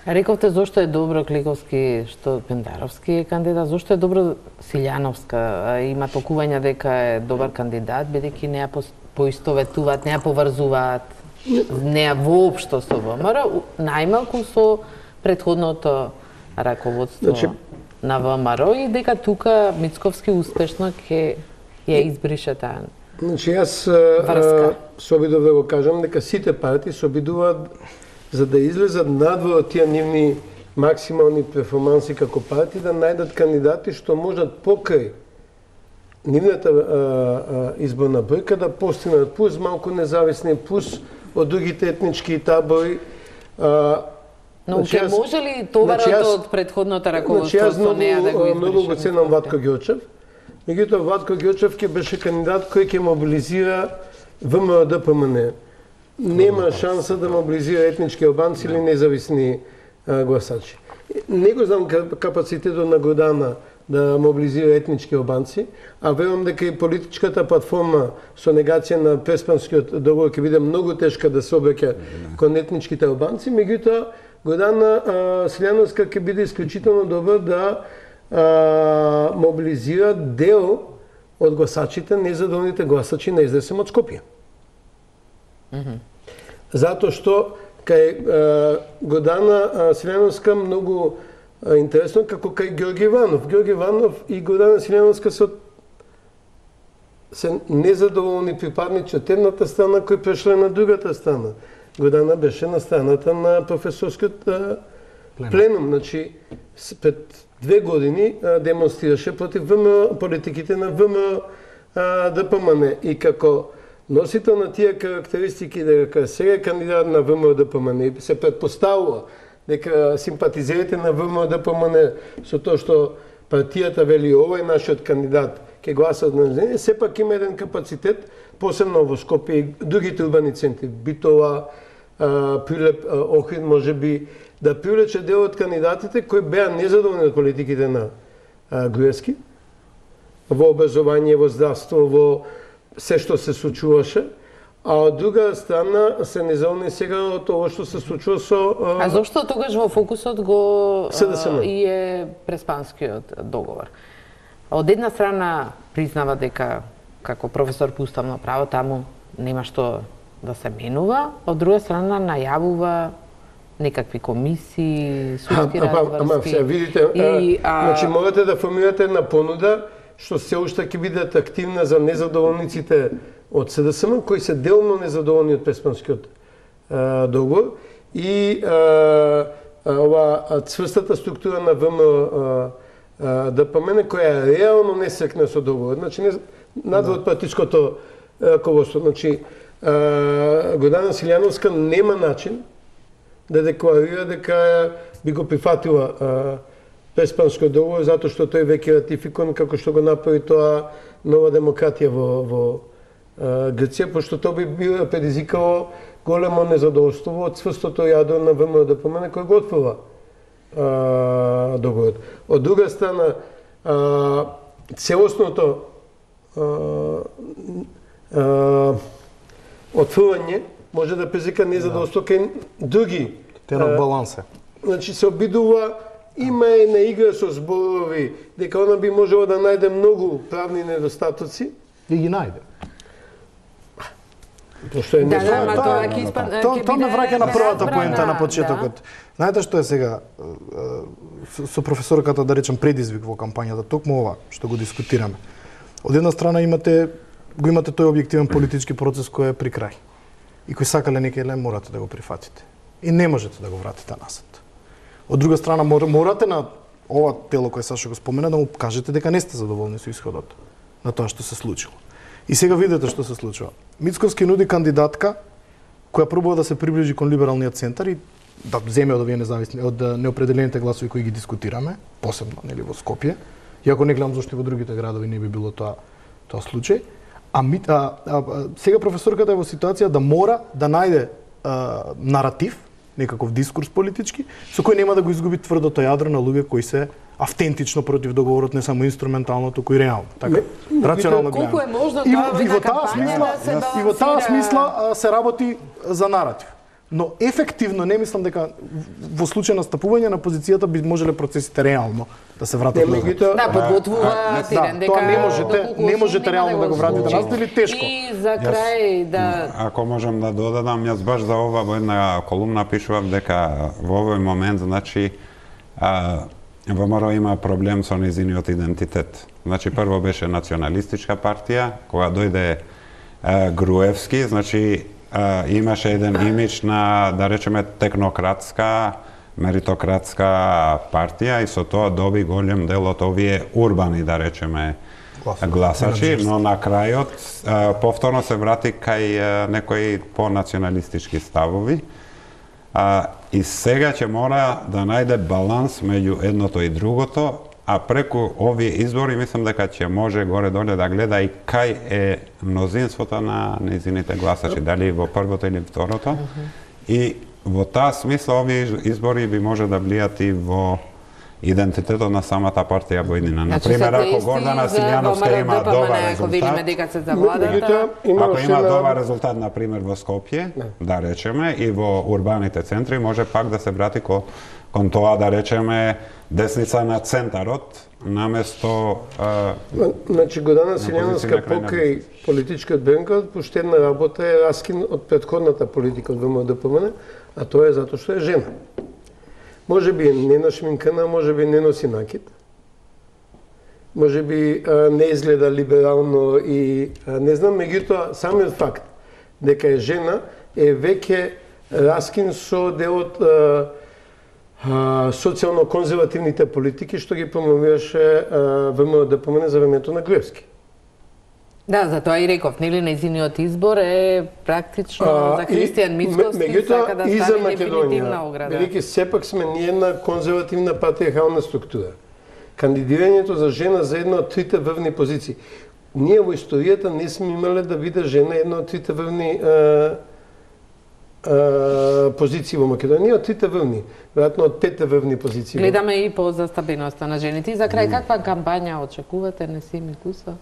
[SPEAKER 1] Рековте зошто е добро Кликовски што Пендаровски е кандидат, зошто е добро Силјановска? Има толкување дека е добар кандидат, бидејќи не ја поистоветуваат, не ја поврзуваат, не ја воопшто со ВМРО, најмалку со претходното раководство значи, на ВМРО и дека тука Мицковски успешно ќе ја избрише таа.
[SPEAKER 5] Значи јас а, се обидов да го кажам дека сите партии се обидуваат за да излезат надвор од тие нивни максимални перформанси како партии, да најдат кандидати што можат покрај нивната а, а, изборна бројка да постигнат плюс малку независни, плюс од другите етнички табори. А,
[SPEAKER 1] Но значи, ќе може ли товарот значи, од претходното раководство
[SPEAKER 5] значи, неа да го избрише? Многу го ценам Ватко Ѓорчев. Меѓутоа Ватко Ѓорчев ќе беше кандидат кој ќе мобилизира ВМРО-ДПМН. Нема шанса да мобилизира етнички албанци или независни а, гласачи. Не го знам капацитетот на Гордана да мобилизира етнички албанци, а верувам дека и политичката платформа со негација на Преспанскиот договор ќе биде многу тешка да се обраќа кон етничките албанци, меѓутоа Гордана Силјановска ќе биде исклучително добра да а, мобилизира дел од гласачите, незадоволните гласачи на СДСМ од Скопје. Mm-hmm. Затоа што кај Гордана Силјановска многу а, интересно како кај Ѓорги Иванов. Ѓорги Иванов и Гордана Силјановска се се незадоволни припадници од едната страна кои прешле на другата страна. Гордана беше на страната на професорскиот а, пленум. пленум. Значи, пред две години а, демонстрираше против ВМРО, политиките на ВМРО-ДПМН и како носител на тие карактеристики дека сега е кандидат на ВМРО-ДПМН и се предпоставува дека симпатизерите на ВМРО-ДПМН со тоа што партијата вели овој нашиот кандидат ќе гласат на неј, сепак има еден капацитет, посебно во Скопје и другите урбани центри, Битола, Прилеп, Охрид, може би, да привлече дел од кандидатите кои беа незадоволни од политиките на Груевски, во образование, во здравство, во се што се случуваше, а од друга страна се незадоволни сега од тоа што се случува со...
[SPEAKER 1] А зошто тогаш во фокусот го
[SPEAKER 5] СДСМ
[SPEAKER 1] и е Преспанскиот договор? Од една страна признава дека како професор по уставно право таму нема што да се менува, од друга страна најавува некакви комисии, судски разборски.
[SPEAKER 5] Ама, сега видите, и, а... значи морате да формирате една понуда што се уште ќе биде атрактивна за незадоволниците од СДСМ, кои се делно незадоволни од Преспанскиот договор и а, а, ова цврстата структура на ВМРО-ДПМН која реално не секне со договор. Значи, не, надвор од партиското раководство. Значи, Гордана Силјановска нема начин да декларира дека би го прифатила Преспанскиот договор, затоа што тој веќе ратификуван, како што го направи тоа Нова демократија во, во Грција, пошто тоа би било предизвикало големо незадоволство од цврстото јадро на ВМРО-ДПМН кој го отфрла договорот. Од друга страна, а, целосното а, а, отфрлање може да предизвика незадоволство кај други.
[SPEAKER 2] Тенот баланс е.
[SPEAKER 5] Значи се обидува, има една игра со зборови, дека она би можело да најде многу правни недостатоци.
[SPEAKER 2] И ги најде.
[SPEAKER 5] Пошто е
[SPEAKER 1] Да,
[SPEAKER 5] нешто.
[SPEAKER 1] да, ма тоа ќе испадне.
[SPEAKER 2] Тоа тоа ме враќа на првата
[SPEAKER 1] забрана,
[SPEAKER 2] поента на почетокот. Знаете што е сега со, со професорката, да речем, предизвик во кампањата, токму ова што го дискутираме. Од една страна имате го имате тој објективен политички процес кој е при крај. И кој сакале некај морате да го прифатите. И не можете да го вратите назад. Од друга страна морате на ова тело кое Сашо го спомена да му кажете дека не сте задоволни со исходот на тоа што се случило. И сега видите што се случува. Мицковски нуди кандидатка која пробува да се приближи кон либералниот центар и да земе од овие независни од неопределените гласови кои ги дискутираме, посебно нели во Скопје. Иако не гледам зашто и во другите градови не би било тоа тоа случај. А, а, а сега професорката е во ситуација да мора да најде а, наратив, некаков дискурс политички, со кој нема да го изгуби тврдото јадро на луѓе кои се автентично против договорот, не само инструментално, туку и реално. Така, рационално гледано.
[SPEAKER 1] Колку е можно
[SPEAKER 2] И,
[SPEAKER 1] тоа
[SPEAKER 2] и во
[SPEAKER 1] во
[SPEAKER 2] таа смисла,
[SPEAKER 1] да се
[SPEAKER 2] и во таа
[SPEAKER 1] балансира?
[SPEAKER 2] смисла а, се работи за наратив. Но ефективно не мислам дека во случај на стапување на позицијата би можеле процесите реално да се вратат
[SPEAKER 5] Не,
[SPEAKER 2] назад.
[SPEAKER 5] меѓутоа,
[SPEAKER 1] Да, подготвува Тирен дека
[SPEAKER 2] тоа не можете,
[SPEAKER 1] доколку
[SPEAKER 2] не можете
[SPEAKER 1] нема
[SPEAKER 2] реално да го вратите
[SPEAKER 1] случи.
[SPEAKER 2] назад или тешко.
[SPEAKER 1] И за крај да
[SPEAKER 4] Ако можам да додадам, јас баш за ова во една колумна пишував дека во овој момент, значи, а, ВМРО има проблем со незиниот идентитет. Значи, прво беше националистичка партија, кога дојде а, Груевски, значи, а, имаше еден имидж на, да речеме, технократска, меритократска партија и со тоа доби голем дел од овие урбани, да речеме, гласачи, но на крајот а, повторно се врати кај а, некои понационалистички ставови. А, и сега ќе мора да најде баланс меѓу едното и другото, а преку овие избори мислам дека ќе може горе-доле да гледа и кај е мнозинството на незините гласачи, дали во првото или второто. И во таа смисла овие избори би може да влијат и во идентитетот на самата партија војнина. Например, ако Гордана Силјановска има добар резултат, ако има добар резултат, например, во Скопје, да речеме, и во урбаните центри, може пак да се врати кон, кон тоа, да речеме, десница на центарот, наместо... А,
[SPEAKER 5] значи, Гордана Силјановска покрај политичкиот бенкот, поштедна работа е раскин од претходната политика од ВМРО-ДПМН, а тоа е затоа што е жена. Може би не нашминкана, може би не носи накид. Може би а, не изгледа либерално и а, не знам, меѓутоа самиот факт дека е жена е веќе раскин со делот социјално-конзервативните политики што ги промовираше ВМРО-ДПМН за времето на Груевски.
[SPEAKER 1] Да, затоа и реков, нели нејзиниот избор е практично а, за Христијан Мицковски сака да стане дефинитивна ограда.
[SPEAKER 5] Бидејќи сепак сме ние една конзервативна патриархална структура. Кандидирањето за жена за една од трите врвни позиции. Ние во историјата не сме имале да биде жена една од трите врвни а, а, позиции во Македонија, од трите врвни, веројатно од петте врвни позиции.
[SPEAKER 1] Гледаме и по застапеноста на жените. И за крај, каква кампања очекувате, Несим Куса?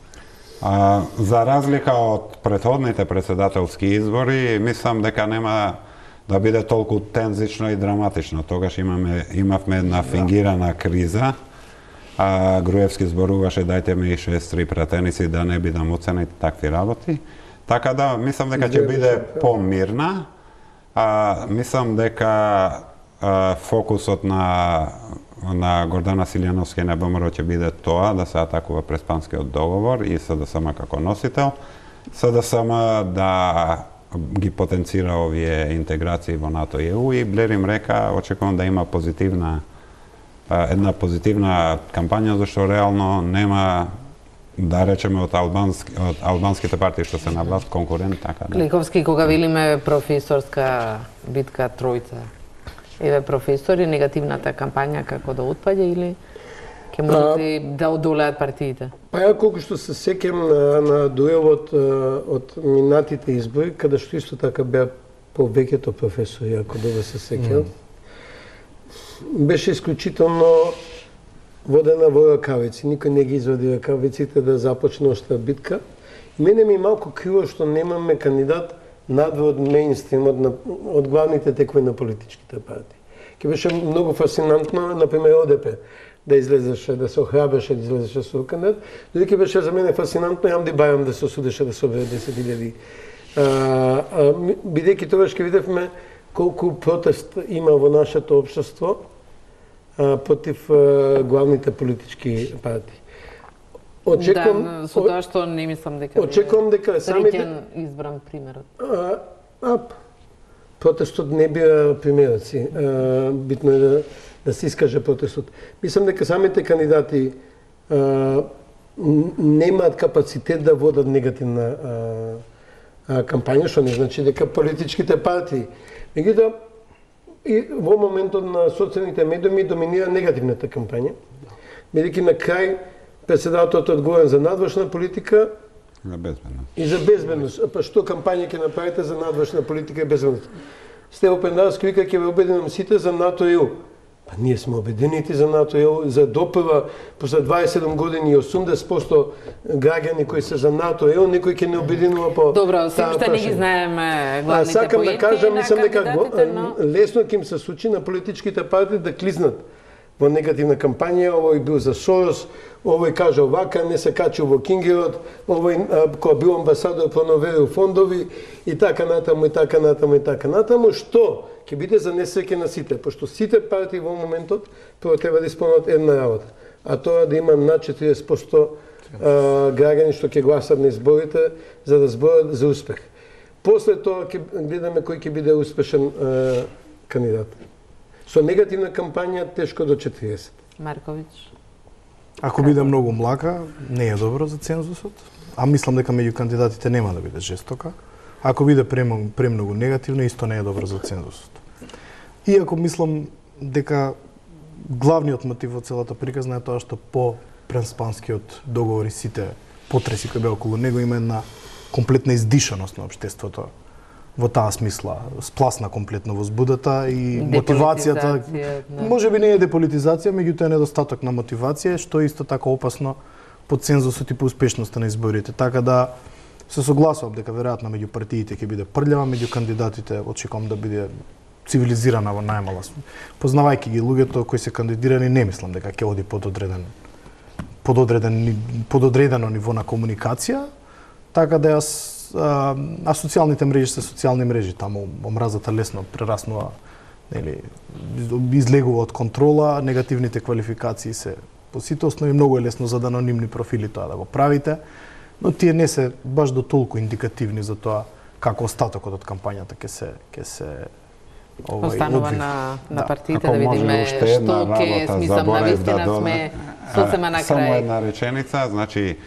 [SPEAKER 4] А, за разлика од претходните председателски избори, мислам дека нема да биде толку тензично и драматично. Тогаш имаме, имавме една фингирана криза. А, Груевски зборуваше дајте ми шест-три пратеници да не бидам оценет такви работи. Така да, мислам дека ќе биде помирна. А, мислам дека а, фокусот на на Гордана Силјановска и на ВМРО ќе биде тоа да се атакува Преспанскиот договор и СДСМ како носител. СДСМ да ги потенцира овие интеграции во НАТО и Е У и Блер им река, очекувам да има позитивна една позитивна кампања, зашто реално нема да речеме од албански од албанските партии што се на власт конкурент, така да.
[SPEAKER 1] Кликовски, кога велиме професорска битка тројца, еве професори, негативната кампања како да отпаѓа или ќе можете да одолеат партиите?
[SPEAKER 5] Па ја колку што се сеќам на, на дуелот од минатите избори, каде што исто така беа повеќето професори, ако добро се сеќам, mm. беше исклучително водена во ракавици. Никој не ги извади ракавиците да започне оштра битка. И мене ми малку криво што немаме кандидат надвор од мејнстримот, од главните текови на политичките партии. Ке беше многу фасцинантно, например, О Д П да излезеше, да се охрабеше да излезеше со кандидат. Додека беше за мене фасцинантно Јамди Бајам да се осудеше да собере десет илјади. Бидејќи тогаш ке видевме колку протест има во нашето општество против главните политички партии.
[SPEAKER 1] Очекувам да, со тоа што не мислам дека
[SPEAKER 5] очекувам дека самите
[SPEAKER 1] избран примерот.
[SPEAKER 5] А, а протестот не бива примерот си. А, битно е да да се искаже протестот. Мислам дека самите кандидати а, немаат капацитет да водат негативна а, а, кампања, што не значи дека политичките партии. Меѓутоа, и во моментот на социјалните медиуми доминира негативната кампања, бидејќи на крај председателот е одговорен за надворешна политика
[SPEAKER 4] за безбедност.
[SPEAKER 5] И за безбедност. Па што кампања ќе направите за надворешна политика и безбедност? Стево Пендаровски вика ќе ве обединам сите за НАТО и Е У. Па ние сме обединети за НАТО и Е У, за допрва после дваесет и седум години и осумдесет проценти граѓани кои се за НАТО и Е У, некој ќе не обединува по
[SPEAKER 1] Добро, се уште не ги знаеме главните поенти.
[SPEAKER 5] Сакам да кажам, мислам дека
[SPEAKER 1] но...
[SPEAKER 5] лесно ќе им се случи на политичките партии да клизнат во негативна кампања, овој бил за Сорос, овој кажа овака, не се качил во Кингерот, овој кој бил амбасадор проноверил фондови и така натаму и така натаму и така натаму, што ќе биде за несреќа на сите, пошто сите партии во моментот прво треба да исполнат една работа, а тоа да има над четириесет проценти граѓани што ќе гласат на изборите за да зборат за успех. После тоа ќе гледаме кој ќе биде успешен а, кандидат. Со негативна кампања тешко до четириесет.
[SPEAKER 1] Марковиќ.
[SPEAKER 2] Ако биде многу млака, не е добро за цензусот, а мислам дека меѓу кандидатите нема да биде жестока. Ако биде премногу негативно, исто не е добро за цензусот. Иако мислам дека главниот мотив од целата приказна е тоа што по Преспанскиот договор и сите потреси кои беа околу него има една комплетна издишаност на општеството во таа смисла, спласна комплетно возбудата и мотивацијата. Да. Може би не е деполитизација, меѓутоа е недостаток на мотивација, што е исто така опасно по цензусот и по успешноста на изборите. Така да се согласувам дека веројатно меѓу партиите ќе биде прљава, меѓу кандидатите очекувам да биде цивилизирана во најмала. Познавајќи ги луѓето кои се кандидирани, не мислам дека ќе оди пододреден пододреден пододредено ниво на комуникација, така да јас а, а социјалните мрежи се социјални мрежи, таму омразата лесно прераснува, нели, излегува од контрола, негативните квалификации се поситосно и многу е лесно за анонимни профили тоа да го правите, но тие не се баш до толку индикативни за тоа како остатокот од кампањата ќе се ќе се
[SPEAKER 1] овој останува на на партиите да, да видиме што ќе смислам на вистина да сме сосема на крај.
[SPEAKER 4] Само една реченица, значи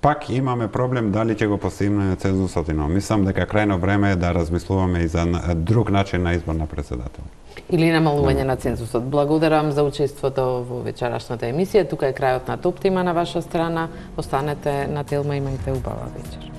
[SPEAKER 4] пак имаме проблем дали ќе го постигнеме цензусот или не. Мислам дека крајно време е да размислуваме и за друг начин на избор на председател.
[SPEAKER 1] Или намалување на цензусот. Благодарам за учеството во вечерашната емисија. Тука е крајот на Топ тема на ваша страна. Останете на Телма, имајте убава вечер.